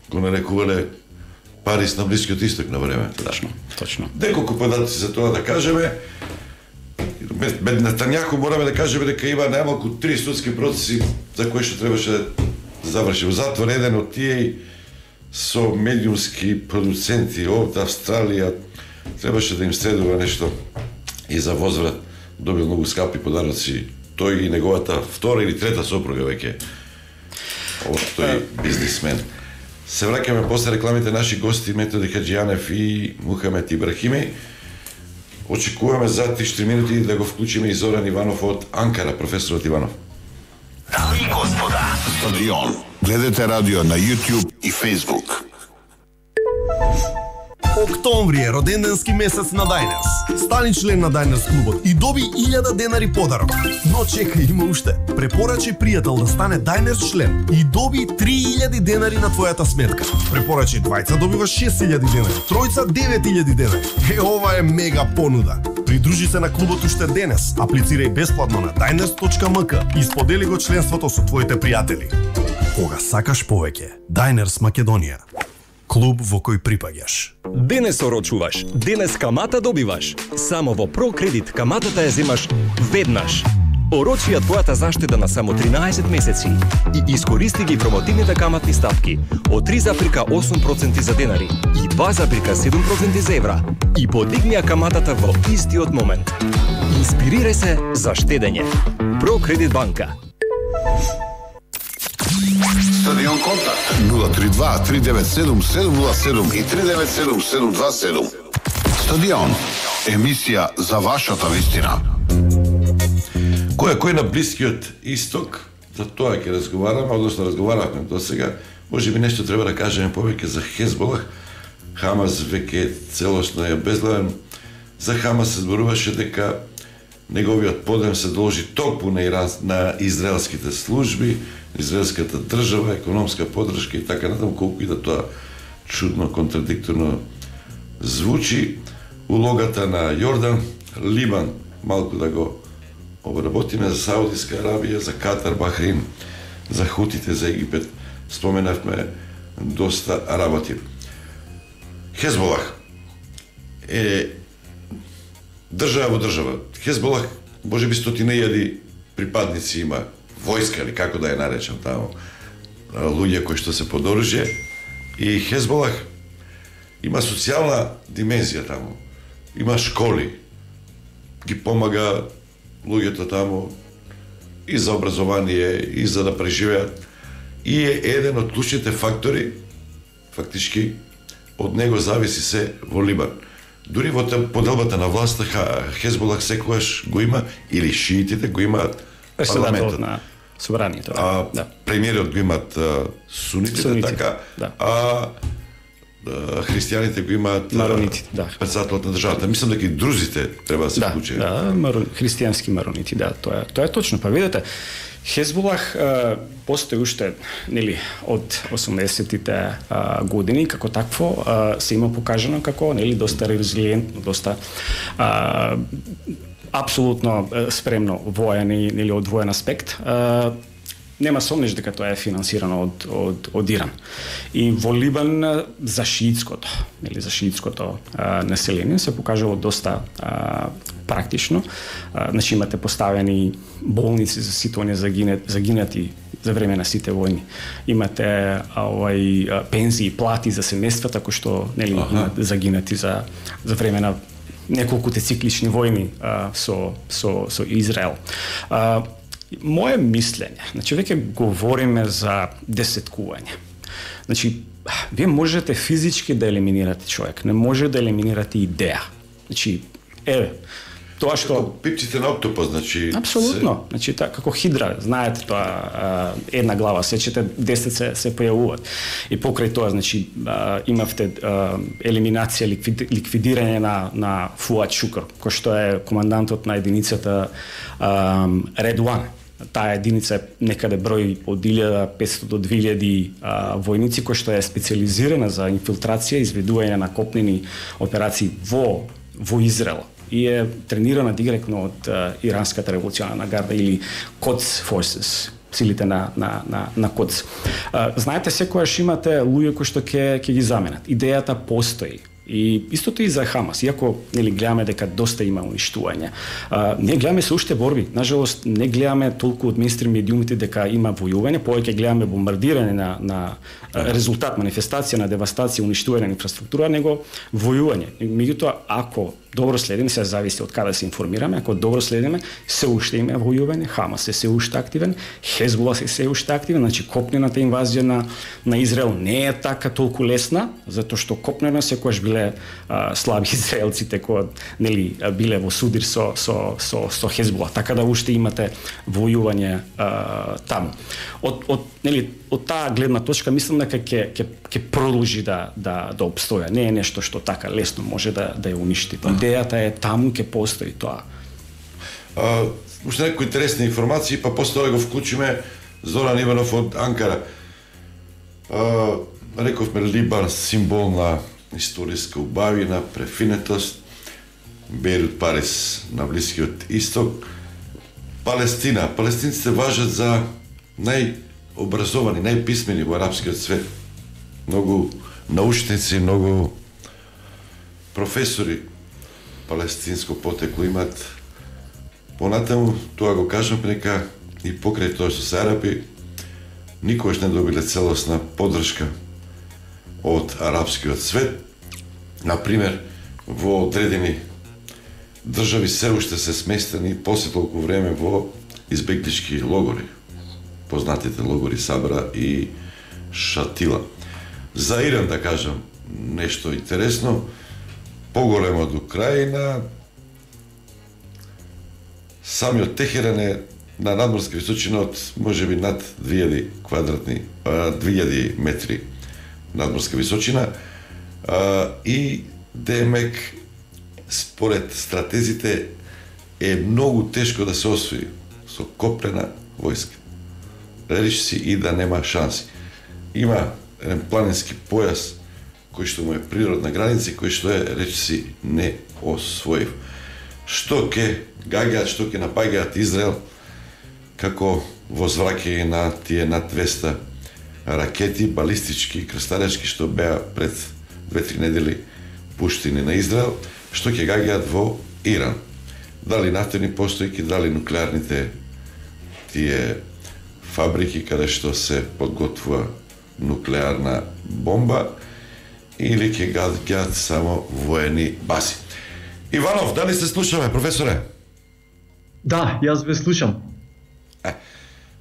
го нарекувале Париз на Блискиот исток на време. Точно, точно. Неколку податоци за тоа да кажеме. Бед Нетањаху мораме да кажеме дека има најмалку три судски процеси за кои што требаше да заврши. Во затвор еден од тие со медиумски продуценти од Австралија требаше да им следува нешто и за возврат добил многу скапи подароци тој и неговата втора или трета сопруга веќе од тој бизнисмен. Се враќаме после рекламите наши гости Методи Хаджијанев и Мухамед Ибрахими. Очекуваме за три-четири минути да го вклучиме и Зоран Иванов од Анкара, професорот Иванов. Дами и господа, Стадион. Гледате радио на YouTube и Facebook. Октомври е роденденски месец на Diners. Стани член на Diners клубот и доби илјада денари подарок. Но чекај, има уште. Препорачи пријател да стане Diners член и доби три илјади денари на твојата сметка. Препорачи двајца добиваш шест илјади денари, тројца девет илјади денари. Е, ова е мега понуда. Придружи се на клубот уште денес. Аплицирај бесплатно на diners точка ем ка и сподели го членството со твоите пријатели. Кога сакаш повеќе, Diners Македонија. Клуб во кој припаѓаш. Денес орочуваш, денес камата добиваш. Само во ProCredit каматата ја земаш веднаш. Орочи ја твојата заштеда на само тринаесет месеци и искористи ги промотивните каматни стапки од три запирка осум проценти за денари и два запирка седум проценти за евра и подигни ја каматата во истиот момент. Инспирирај се за штедење. ProCredit банка. Стадион Контакт нула три два три девет седум седум нула седум и три девет седум седум два седум. Стадион, емисија за вашата вистина. Кој е кој на Блискиот Исток, за тоа ќе разговараме, односно разговаравме до сега. Може би нешто треба да кажеме повеќе за Хезболах. Хамас веќе целосно е безглавен. За Хамас се зборуваше дека неговиот подем се должи токму на, Иран, на израелските служби, израелската држава, економска поддршка и така натаму, колку и да тоа чудно, контрадикторно звучи. Улогата на Јордан, Либан, малку да го обработиме, за Саудиска Арабија, за Катар, Бахрин, за Хутите, за Египет, споменавме доста работи. Хезболах е држава во држава. Хезболах, може би стотина илјади припадници има, војска или како да ја наречам таму, луѓе кои што се под оружје, и Хезболах има социјална димензија таму. Има школи, ги помага луѓето таму и за образование, и за да преживеат. И е еден од клучните фактори, фактички, од него зависи се во Либан. Дури во поделбата на власта Хезболах секогаш го има, или шиитите го имаат парламентот на собранието. А да. Премиерот го имаат сунитите, сунитите, така, да. а христијаните го имаат маронитите, да. Председателот на државата. Мислам дека и друзите треба да се да, вклучат. Да, марон, христијански маронити, да, тоа е, тоа е точно. Па видете, Хезболах а, постои уште, нели, од осумдесетите а, години, како такво а, се има покажано како, нели, доста резилиентно, доста а, апсолутно спремно воен и, нели, од воен аспект. А, нема сомнеш дека тоа е финансирано од, од, од Иран. И во Либан за шиитското, нели, за шиитското а, население се покажало доста а, практично. А, значи имате поставени болници за сите загинати, загинати за време на сите војни. Имате овај пензии, плати за семејствата кои што, нели, имат загинати за за време на неколкуте циклични војни а, со со со Израел. А, Моje мислење, значи веќе говориме за десеткување. Значи, вие можете физички да елиминирате човек, не може да елиминирате идеја. Значи, еве, тоа што како пипците на октопус, значи апсолутно, се... значи та како хидра, знаете тоа, а, една глава, сечете десет се се појавуваат. И покрај тоа, значи а, имавте а, елиминација, ликвид, ликвидирање на на Фуад Шукр, кој што е командантот на единицата а, Ред еден. Таа единица е некаде број од илјада петстотини до две илјади а, војници, кој што е специализирана за инфилтрација и изведување на копнени операции во во Израел и е тренирана директно од а, иранската револуционарна гарда или Quds Forces, силите на на на на Quds. А, знаете, секогаш имате луѓе кои што ќе ќе ги заменат. Идејата постои. И истото и за Хамас, иако, нели, гледаме дека доста има уништување. А, не гледаме се уште борби. Нажалост, не гледаме толку од мејнстрим медиумите дека има војување, повеќе гледаме бомбардирање на на резултат, манифестација на девастација, уништување на инфраструктура, него војување. Меѓутоа, ако добро следиме, се зависи од каде се информираме, ако добро следиме, се уште има војување, Хамас е се уште активен, Хезбола се се уште активен, значи копнената инвазија на на Израел не е така толку лесна, затоа што копнено секогаш биле а, слаби израелците кои нели биле во судир со со со со Хезбола, така да уште имате војување а, таму. Од од нели од таа гледна точка мислам дека ќе ќе ќе продолжи да да да обстоја. Не е нешто што така лесно може да да ја уништи. Идејата е таму ќе постои тоа. А, уште некои интересни информации, па после тоа го вклучиме Зоран Иванов од Анкара. А, рековме Либан символ на историска убавина, префинетост, Бејрут, Париз на Блискиот Исток, Палестина. Палестинците важат за најобразовани, најписмени во арапскиот свет. Многу научници, многу професори палестинско потекло имат. Понатаму, тоа го кажам, нека и покрај тоа што се арапи, никогаш не добиле целосна поддршка од арапскиот свет. Например, во одредени држави се уште се сместени после толку време во избеглички логори. Познатите логори Сабра и Шатила. За Иран, да кажам, нешто интересно, поголемо од Украина, самиот Техеран е на надморска височина од можеби над две илјади квадратни, две илјади метри надморска височина, и демек според стратезите е многу тешко да се освои со копнена војска. Речиси и да нема шанси. Има еден планински појас кој што му е природна граница, кој што е речиси не освоив. Што ќе гаѓаат, што ќе напаѓаат Израел, како возвраќање на тие над двеста ракети, балистички и крстаречки, што беа пред две-три недели пуштени на Израел, што ќе гаѓаат во Иран. Дали нафтени постојки, дали нуклеарните тие фабрики каде што се подготвува нуклеарна бомба, или ќе гаѓаат само воени бази. Иванов, дали се слушаме, професоре? Да, јас ве слушам. Е,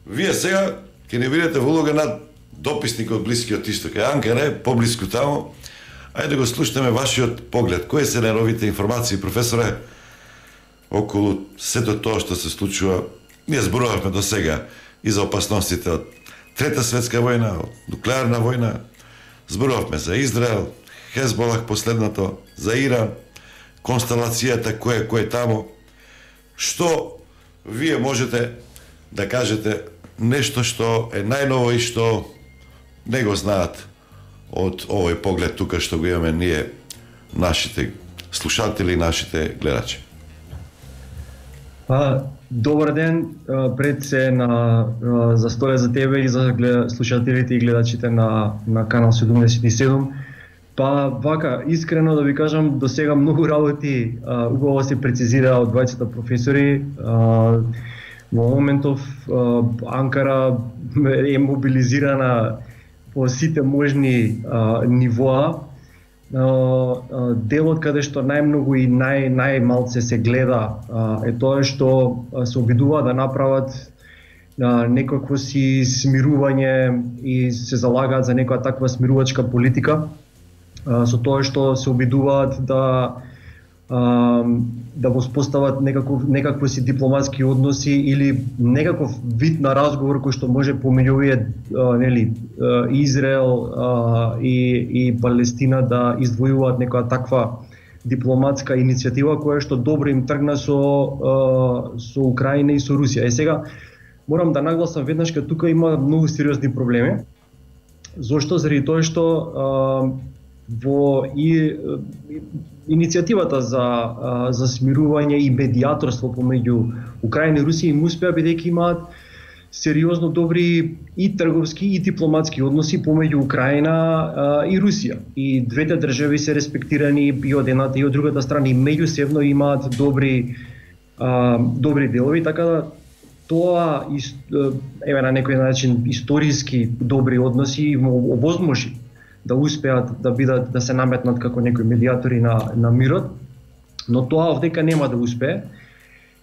вие сега ќе не видите во улога на дописник од Блискиот Исток. Е, Анкара е поблиску таму. Ајде да го слушаме вашиот поглед. Кои се најновите информации, професоре, околу сето тоа што се случува? Ние зборувавме до сега и за опасностите од Трета светска војна, од нуклеарна војна. Зборувавме за Израел, Хезболах последното, за Иран, констелацијата кој кој е таму. Што вие можете да кажете нешто што е најново и што не го знаат од овој поглед тука што го имаме ние, нашите слушатели, нашите гледачи? А, добар ден, пред се на за столе за тебе и за глед, слушателите и гледачите на на канал седумдесет и седум. Па вака, искрено да ви кажам, до сега многу работи а, убаво се прецизира од двајцата професори. А, во моментов а, Анкара е мобилизирана по сите можни а, нивоа. А, делот каде што најмногу и нај најмалце се гледа а, е тоа што се обидува да направат а, некакво си смирување и се залагаат за некоја таква смирувачка политика, а, со тоа што се обидуваат да а, да воспостават некаков некакво си дипломатски односи или некаков вид на разговор кој што може помеѓу овие нели Израел а, и и Палестина да издвојуваат некоја таква дипломатска иницијатива која што добро им тргна со а, со Украина и со Русија. Е сега морам да нагласам веднаш дека тука има многу сериозни проблеми. Зошто? Заради тоа што а, во и, и иницијативата за за смирување и медијаторство помеѓу Украина и Русија им успеа бидејќи имаат сериозно добри и трговски и дипломатски односи помеѓу Украина а, и Русија. И двете држави се респектирани и од едната и од другата страна и меѓусебно имаат добри а, добри делови, така да тоа еве на некој начин историски добри односи им овозможи да успеат да бидат да се наметнат како некои медијатори на на мирот. но тоа овдека нема да успее.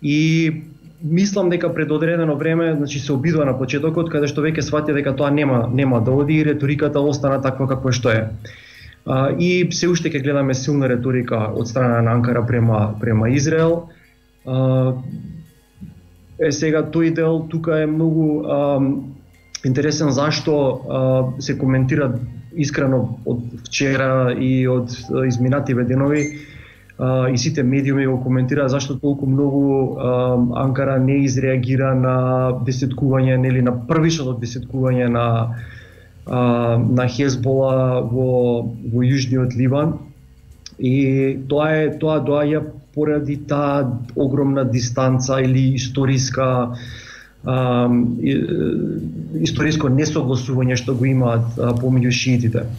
И мислам дека пред одредено време, значи се обидува на почетокот каде што веќе свати дека тоа нема нема да оди и реториката остана таква каква што е. А, и се уште ќе гледаме силна реторика од страна на Анкара према према Израел. А, е сега тој дел тука е многу а, интересен зашто а, се коментира искрено од вчера и од изминативе денови. Uh, и сите медиуми го коментираа зашто толку многу uh, Анкара не изреагира на десеткување, нели на првичното десеткување на uh, на Хезбола во во јужниот Ливан. И тоа е тоа доаѓа поради таа огромна дистанца или историска uh, историско несогласување што го имаат uh, помеѓу шиитите.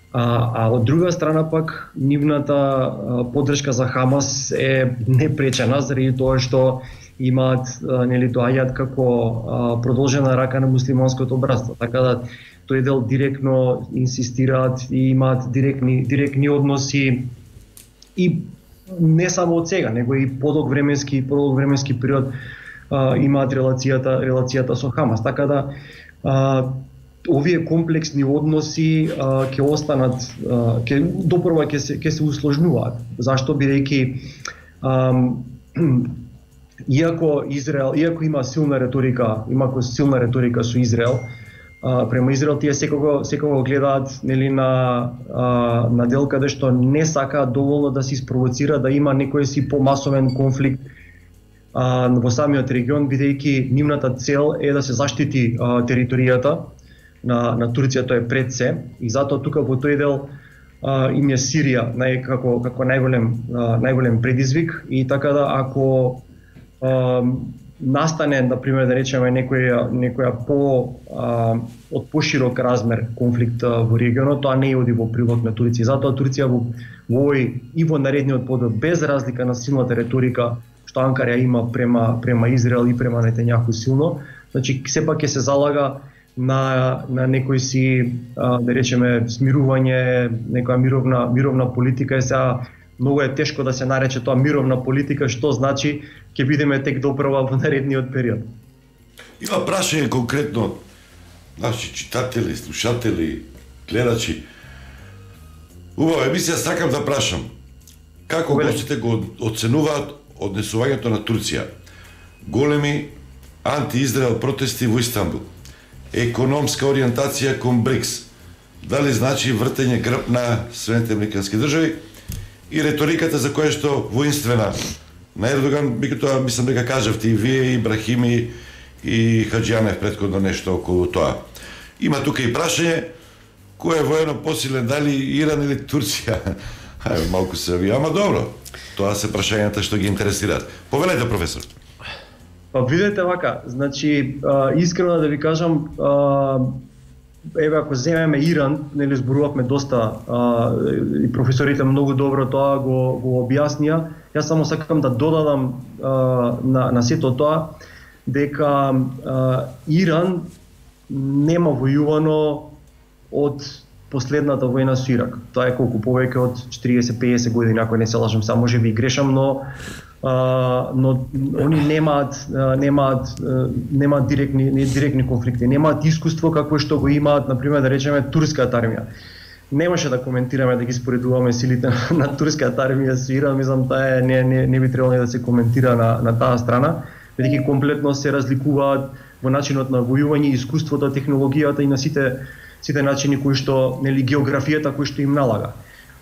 А, а од друга страна пак нивната а, поддршка за Хамас е непречена заради тоа што имаат а, нели доаѓаат како а, продолжена рака на муслиманското братство. Така да тој дел директно инсистираат и имаат директни директни односи и не само од сега, него и подолг временски подолг временски период а, имаат релацијата релацијата со Хамас. Така да а, овие комплексни односи а, ќе останат, а, ќе допрва ќе се ќе се усложнуваат. Зашто бидејќи иако Израел, иако има силна реторика, има силна реторика со Израел, а, према Израел тие секого секого гледаат нели на а, на дел каде што не сакаат доволно да се испровоцира да има некој си помасовен конфликт а, во самиот регион, бидејќи нивната цел е да се заштити а, територијата на на Турција, тоа е пред се, и затоа тука во тој дел а, им е Сирија нај како како најголем а, најголем предизвик. И така да ако а, настане, на пример, да речеме некоја некоја по а, од поширок размер конфликт а, во регионот, тоа не оди во прилог на Турција. Затоа Турција во овој и во наредниот период, без разлика на силната реторика што Анкара има према према Израел и према Нетањаху силно, значи сепак ќе се залага на на некој си а, да речеме смирување, некоја мировна мировна политика. Е сега многу е тешко да се нарече тоа мировна политика, што значи ќе бидеме тек допрва во наредниот период. Има прашање конкретно наши читатели, слушатели, гледачи. Убава емисија, сакам да прашам. Како гостите го оценуваат однесувањето на Турција? Големи анти-Израел протести во Истанбул. Економска ориентација кон БРИКС. Дали значи вртење грб на Соединетите американски држави и реториката за која што воинствена на Ердоган, бико тоа мислам дека кажавте и вие, и Брахими, и Хаџијанев претходно нешто околу тоа. Има тука и прашање кој е воено посилен, дали Иран или Турција? Ајде, малку се ви, ама добро. Тоа се прашањата што ги интересираат. Повелете, професор. Па видете вака, значи а, искрено да ви кажам, а, еве ако земеме Иран, нели зборувавме доста а, и професорите многу добро тоа го го објаснија. Јас само сакам да додадам а, на на сето тоа дека а, Иран нема војувано од последната војна со Ирак. Тоа е колку повеќе од четириесет до пеесет години, ако не се лажам, само може би грешам, но Uh, но они немаат uh, немаат uh, немаат директни не директни конфликти, немаат искуство какво што го имаат, на пример, да речеме турската армија. Немаше да коментираме, да ги споредуваме силите на турската армија со Иран, мислам таа не не не би требало да се коментира на на таа страна, бидејќи комплетно се разликуваат во начинот на војување, искуството, технологијата и на сите сите начини кои што, нели, географијата кои што им налага.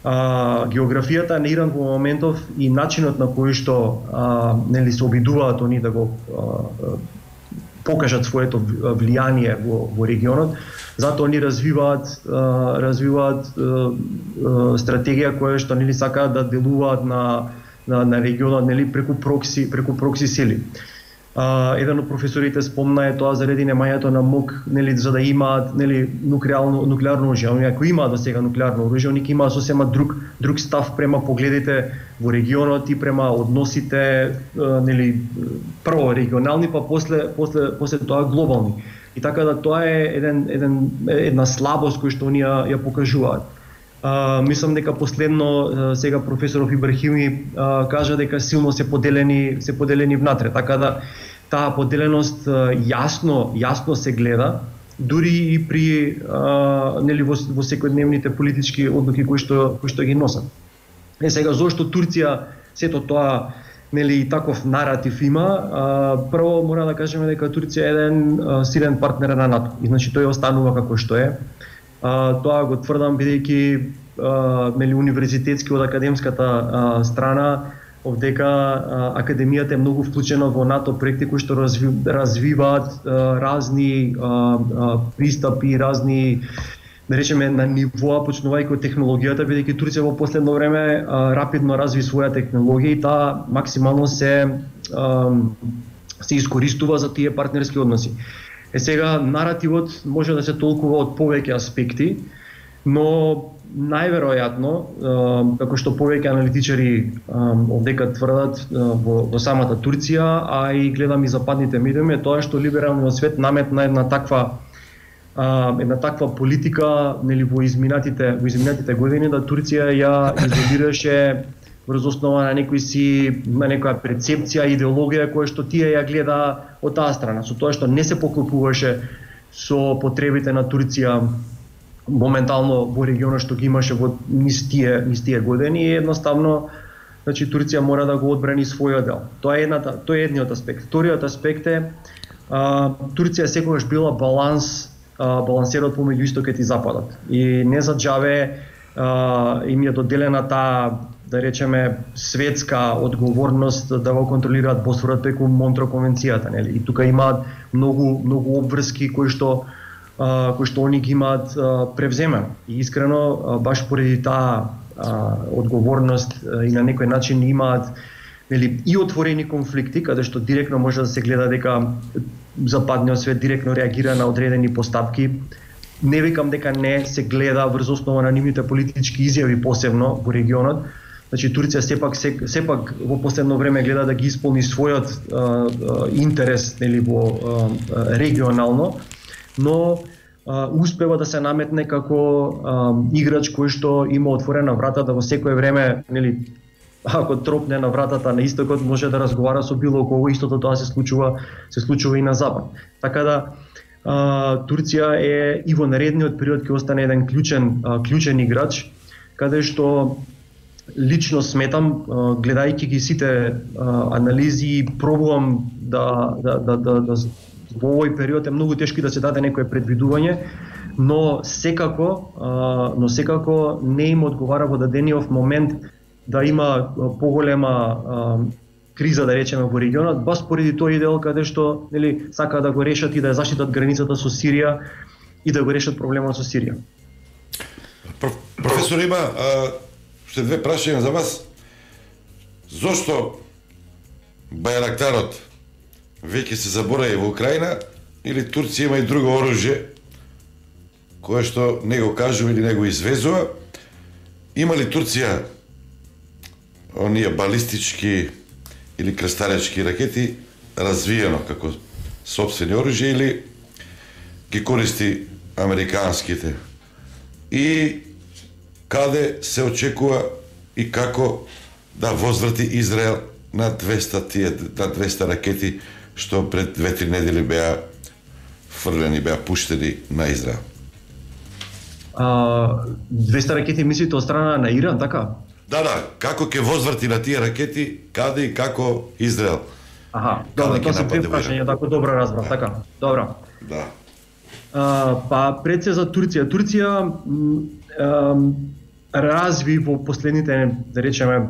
А, географијата на Иран во моментов и начинот на кој што а, нели се обидуваат они да го а, покажат своето влијание во, во регионот, затоа они развиваат а, развиваат а, а, стратегија која што нели сакаат да делуваат на на, на регионот, нели, преку прокси преку прокси сили. Uh, еден од професорите спомна е тоа заради немањето на МОК, нели, за да имаат, нели, нуклеарно нуклеарно оружје. Они ако имаат до сега нуклеарно оружје, они имаат сосема друг друг став према погледите во регионот и према односите, uh, нели, прво регионални, па после после после тоа глобални. И така да тоа е еден еден една слабост која што они ја, ја покажуваат. А, мислам дека последно а, сега професоров Ибрахими а, кажа дека силно се поделени се поделени внатре, така да таа поделеност а, јасно јасно се гледа дури и при а, нели во, во секојдневните политички одлуки кои што кои што ги носат. Е сега зошто Турција сето тоа нели таков наратив има, а, прво мора да кажеме дека Турција е еден а, силен партнер на НАТО. И значи тој останува како што е. А, тоа го тврдам бидејќи нели универзитетски од академската а, страна овдека а, академијата е многу вклучена во НАТО проекти кои што разви, развиваат а, разни а, а, пристапи, разни да речеме на нивоа почнувајќи од технологијата, бидејќи Турција во последно време а, рапидно разви своја технологија и таа максимално се а, се искористува за тие партнерски односи. Е сега наративот може да се толкува од повеќе аспекти, но најверојатно, како што повеќе аналитичари овдека тврдат во, во самата Турција, а и гледам и западните медиуми, е тоа што либералниот свет наметна една таква една таква политика нели во изминатите во изминатите години да Турција ја изолираше врз основа на некои си на некоја перцепција, идеологија која што тие ја гледа од таа страна, со тоа што не се поклопуваше со потребите на Турција моментално во регионот што ги имаше во низ тие низ тие години и едноставно значи Турција мора да го одбрани својот дел. Тоа е едната, тоа е едниот аспект. Вториот аспект е а, Турција секогаш била баланс а, балансерот помеѓу истокот и западот. И не за џаве а, им е доделена таа да речеме светска одговорност да го контролираат Босфорот преку Монтрео конвенцијата, нели? И тука имаат многу многу обврски кои што Uh, кои што они ги имаат uh, превземено. И искрено, uh, баш поради таа uh, одговорност uh, и на некој начин имаат нели, и отворени конфликти, каде што директно може да се гледа дека западниот свет директно реагира на одредени постапки. Не викам дека не се гледа врз основа на нивните политички изјави посебно во регионот. Значи Турција сепак се, сепак во последно време гледа да ги исполни својот uh, uh, интерес нели во uh, регионално, но а, успева да се наметне како а, играч кој што има отворена вратата во секое време, нели, ако тропне на вратата на истокот, може да разговара со било кого, истото тоа се случува, се случува и на запад. Така да а, Турција е и во наредниот период ќе остане еден клучен а, клучен играч, каде што лично сметам, а, гледајќи ги сите а, анализи, пробувам да да да да, да во овој период е многу тешко да се даде некое предвидување, но секако, а, но секако не им одговара во дадениот момент да има поголема а, криза, да речеме, во регионот, бас поради тој дел каде што нели сака да го решат и да ја заштитат границата со Сирија и да го решат проблемот со Сирија. Професор, има а, уште две прашања за вас. Зошто Бајрактарот веќе се заборави во Украина или Турција има и друго оружје кое што не го кажува или не го извезува? Има ли Турција оние балистички или крстаречки ракети развиено како сопствени оружје или ги користи американските? И каде се очекува и како да возврати Израел на двеста тие на двеста ракети што пред две-три недели беа фрлени, беа пуштени на Израел? А, двеста ракети мислите од страна на Иран, така? Да, да, како ќе возврати на тие ракети, каде и како Израел? Аха, добро, тоа се две прашања, така добро разбрав, така. Добро. Да. А, па пред се за Турција. Турција а, разви во последните, да речеме,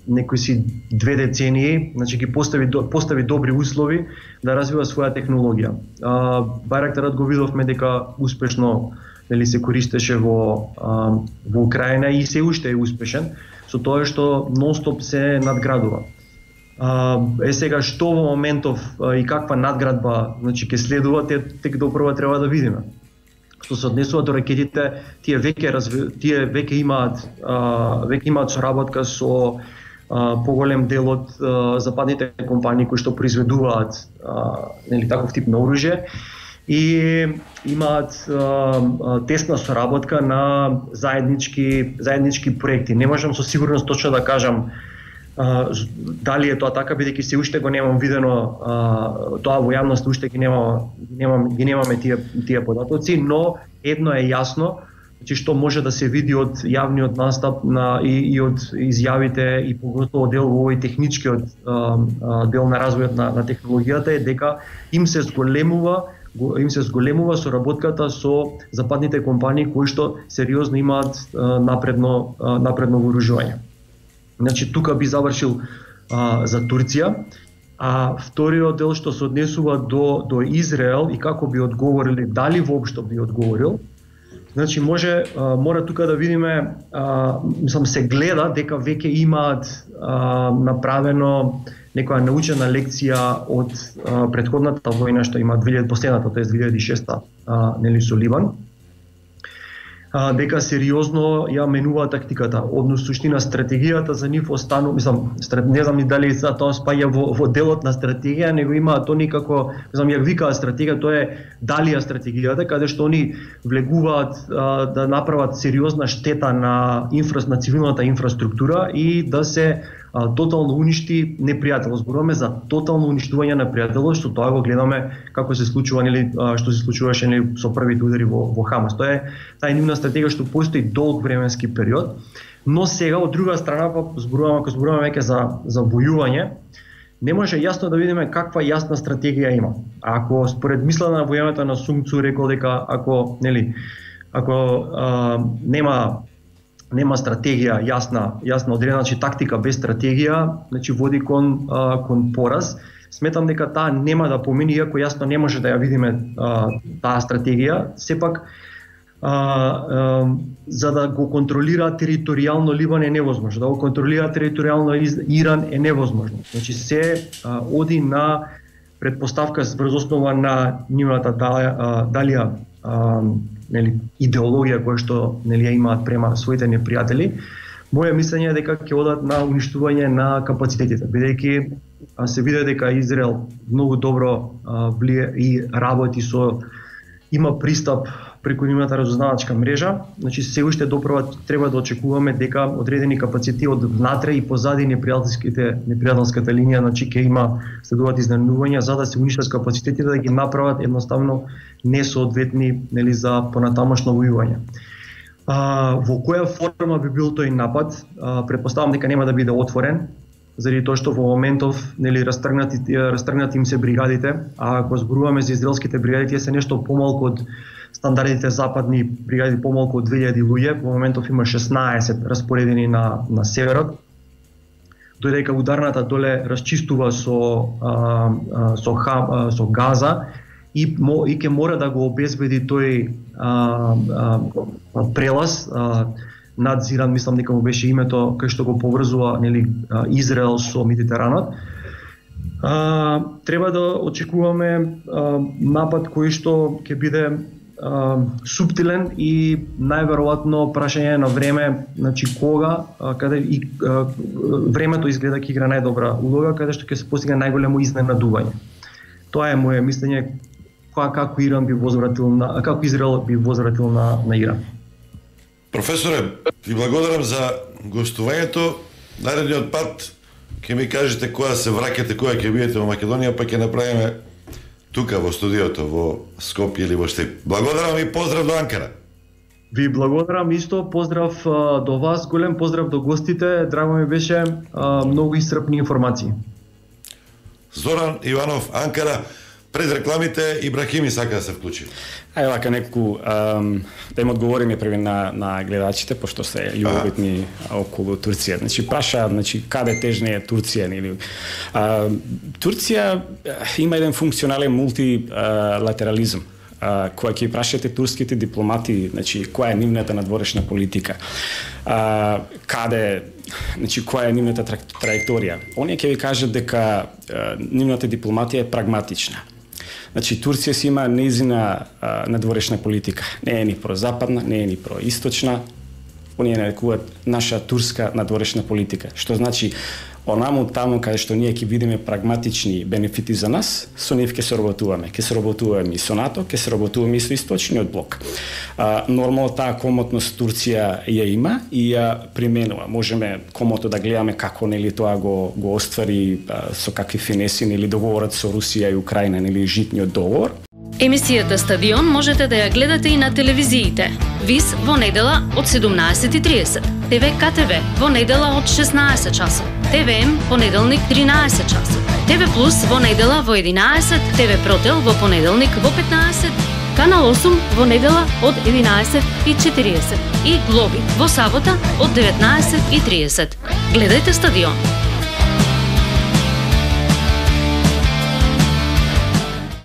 некои си две децении, значи ги постави постави добри услови да развива своја технологија. А, Бајрактарот го видовме дека успешно нели се користеше во а, во Украина и се уште е успешен со тоа што нонстоп се надградува. А, е сега што во моментов а, и каква надградба значи ќе следува, те тек допрва треба да видиме. Што се однесува до ракетите, тие веќе разви... тие веќе имаат а, веќе имаат соработка со а, поголем дел од а, западните компании кои што произведуваат а, нели таков тип на оружје и имаат а, тесна соработка на заеднички заеднички проекти. Не можам со сигурност точно да кажам а, дали е тоа така, бидејќи се уште го немам видено а, тоа во јавност, уште ги немам, немам ги немаме тие тие податоци, но едно е јасно, значи што може да се види од јавниот настап на и, и од изјавите и поготово дел во овој техничкиот а, а, дел на развојот на, на технологијата е дека им се зголемува им се зголемува соработката со западните компании кои што сериозно имаат а, напредно а, напредно вооружување. Значи тука би завршил а, за Турција, а вториот дел што се однесува до до Израел и како би одговориле, дали воопшто би одговорил. Значи може а, мора тука да видиме, а, мислам се гледа дека веќе имаат а, направено некоја научена лекција од а, претходната војна што има две илјади последната, тоа е две илјади и шеста, а, нели со Ливан. А, дека сериозно ја менува тактиката, однос суштина стратегијата за нив останува, мислам, не знам дали за тоа спаѓа во, во делот на стратегија, него има тоа никако, мислам, ја викаат стратегија, тоа е далија стратегијата, каде што они влегуваат а, да направат сериозна штета на инфра, на цивилната инфраструктура и да се а, тотално уништи непријател. Зборуваме за тотално уништување на непријателот, што тоа го гледаме како се случува, нели, што се случуваше, нели, со првите удари во, во Хамас. Тоа е таа нивна стратегија што постои долг временски период, но сега од друга страна па зборуваме, ако зборуваме веќе за за војување, не може јасно да видиме каква јасна стратегија има. Ако според мислена на војавата на Сун Цу рекол дека ако, нели, ако а, нема нема стратегија јасна, јасна одредена, значи тактика без стратегија, значи води кон а, кон пораз. Сметам дека таа нема да помине, иако јасно не може да ја видиме а, таа стратегија, сепак а, а, за да го контролира територијално Ливан е невозможно, да го контролира територијално Иран е невозможно. Значи се а, оди на предпоставка врз основа на нивната далија а, нели, идеологија која што, нели, ја имаат према своите непријатели. Моје мислење е дека ќе одат на уништување на капацитетите, бидејќи се види дека Израел многу добро а, влие и работи со, има пристап преку нивната разузнавачка мрежа, значи се уште доправа треба да очекуваме дека одредени капацитети од внатре и позади непријателските непријателската линија, значи ќе има следуваат изненадувања за да се уништат капацитетите, да ги направат едноставно несоодветни, нели, за понатамошно војување. А, во која форма би бил тој напад? А, претпоставам дека нема да биде отворен, заради тоа што во моментов, нели, растргнати растргнати им се бригадите, а ако зборуваме за израелските бригади, тие се нешто помалку од стандардите западни бригади, помалку од две илјади луѓе, во моментов има шеснаесет распоредени на на северот. Додека ударната доле расчистува со а, а, со Хам, со Газа и мо, и ќе мора да го обезбеди тој а, а, прелаз а, надзиран, мислам дека му беше името кај што го поврзува, нели, Израел со Медитеранот. А, треба да очекуваме а, напад кој што ќе биде Uh, суптилен и најверојатно прашање на време, значи кога, uh, каде и uh, времето изгледа ќе игра најдобра улога, каде што ќе се постигне најголемо изненадување. Тоа е моје мислење како Иран би возвратил на како Израел би возвратил на на Иран. Професоре, ви благодарам за гостувањето. Наредниот пат ќе ми кажете кога се враќате, кога ќе бидете во Македонија, па ќе направиме тука во студиото во Скопје или во Штип. Благодарам и поздрав до Анкара. Ви благодарам исто, поздрав а, до вас, голем поздрав до гостите, драго ми беше, а, многу исцрпни информации. Зоран Иванов, Анкара. Пред рекламите Ибрахими сака да се вклучи. Ајде вака неколку um, да им одговориме први на на гледачите, пошто се љубовитни околу Турција. Значи праша, значи каде тежне е Турција или uh, Турција има еден функционален мултилатерализм. Uh, која ќе прашате турските дипломати, значи која е нивната надворешна политика. Uh, каде, значи која е нивната траекторија. Оние ќе ви кажат дека uh, нивната дипломатија е прагматична. Значи Турција си има нејзина а, надворешна политика. Не е ни прозападна, не е ни происточна. Оние нарекуваат наша турска надворешна политика. Што значи Онаму таму каде што ние ќе видиме прагматични бенефити за нас, со нив ќе се работуваме. Ќе се работуваме и со НАТО, ќе се работуваме и со Источниот блок. А, нормално таа комотност Турција ја има и ја применува. Можеме комото да гледаме како нели тоа го го оствари а, со какви финеси или договорот со Русија и Украина, нели житниот договор. Емисијата Стадион можете да ја гледате и на телевизиите. ВИС во недела од седумнаесет и тридесет, ТВ КТВ во недела од шеснаесет часот, ТВМ понеделник тринаесет часот, ТВ Плюс во недела во единаесет, ТВ Протел во понеделник во петнаесет, Канал осум во недела од единаесет и четириесет и Глоби во сабота од деветнаесет и тридесет. Гледајте Стадион.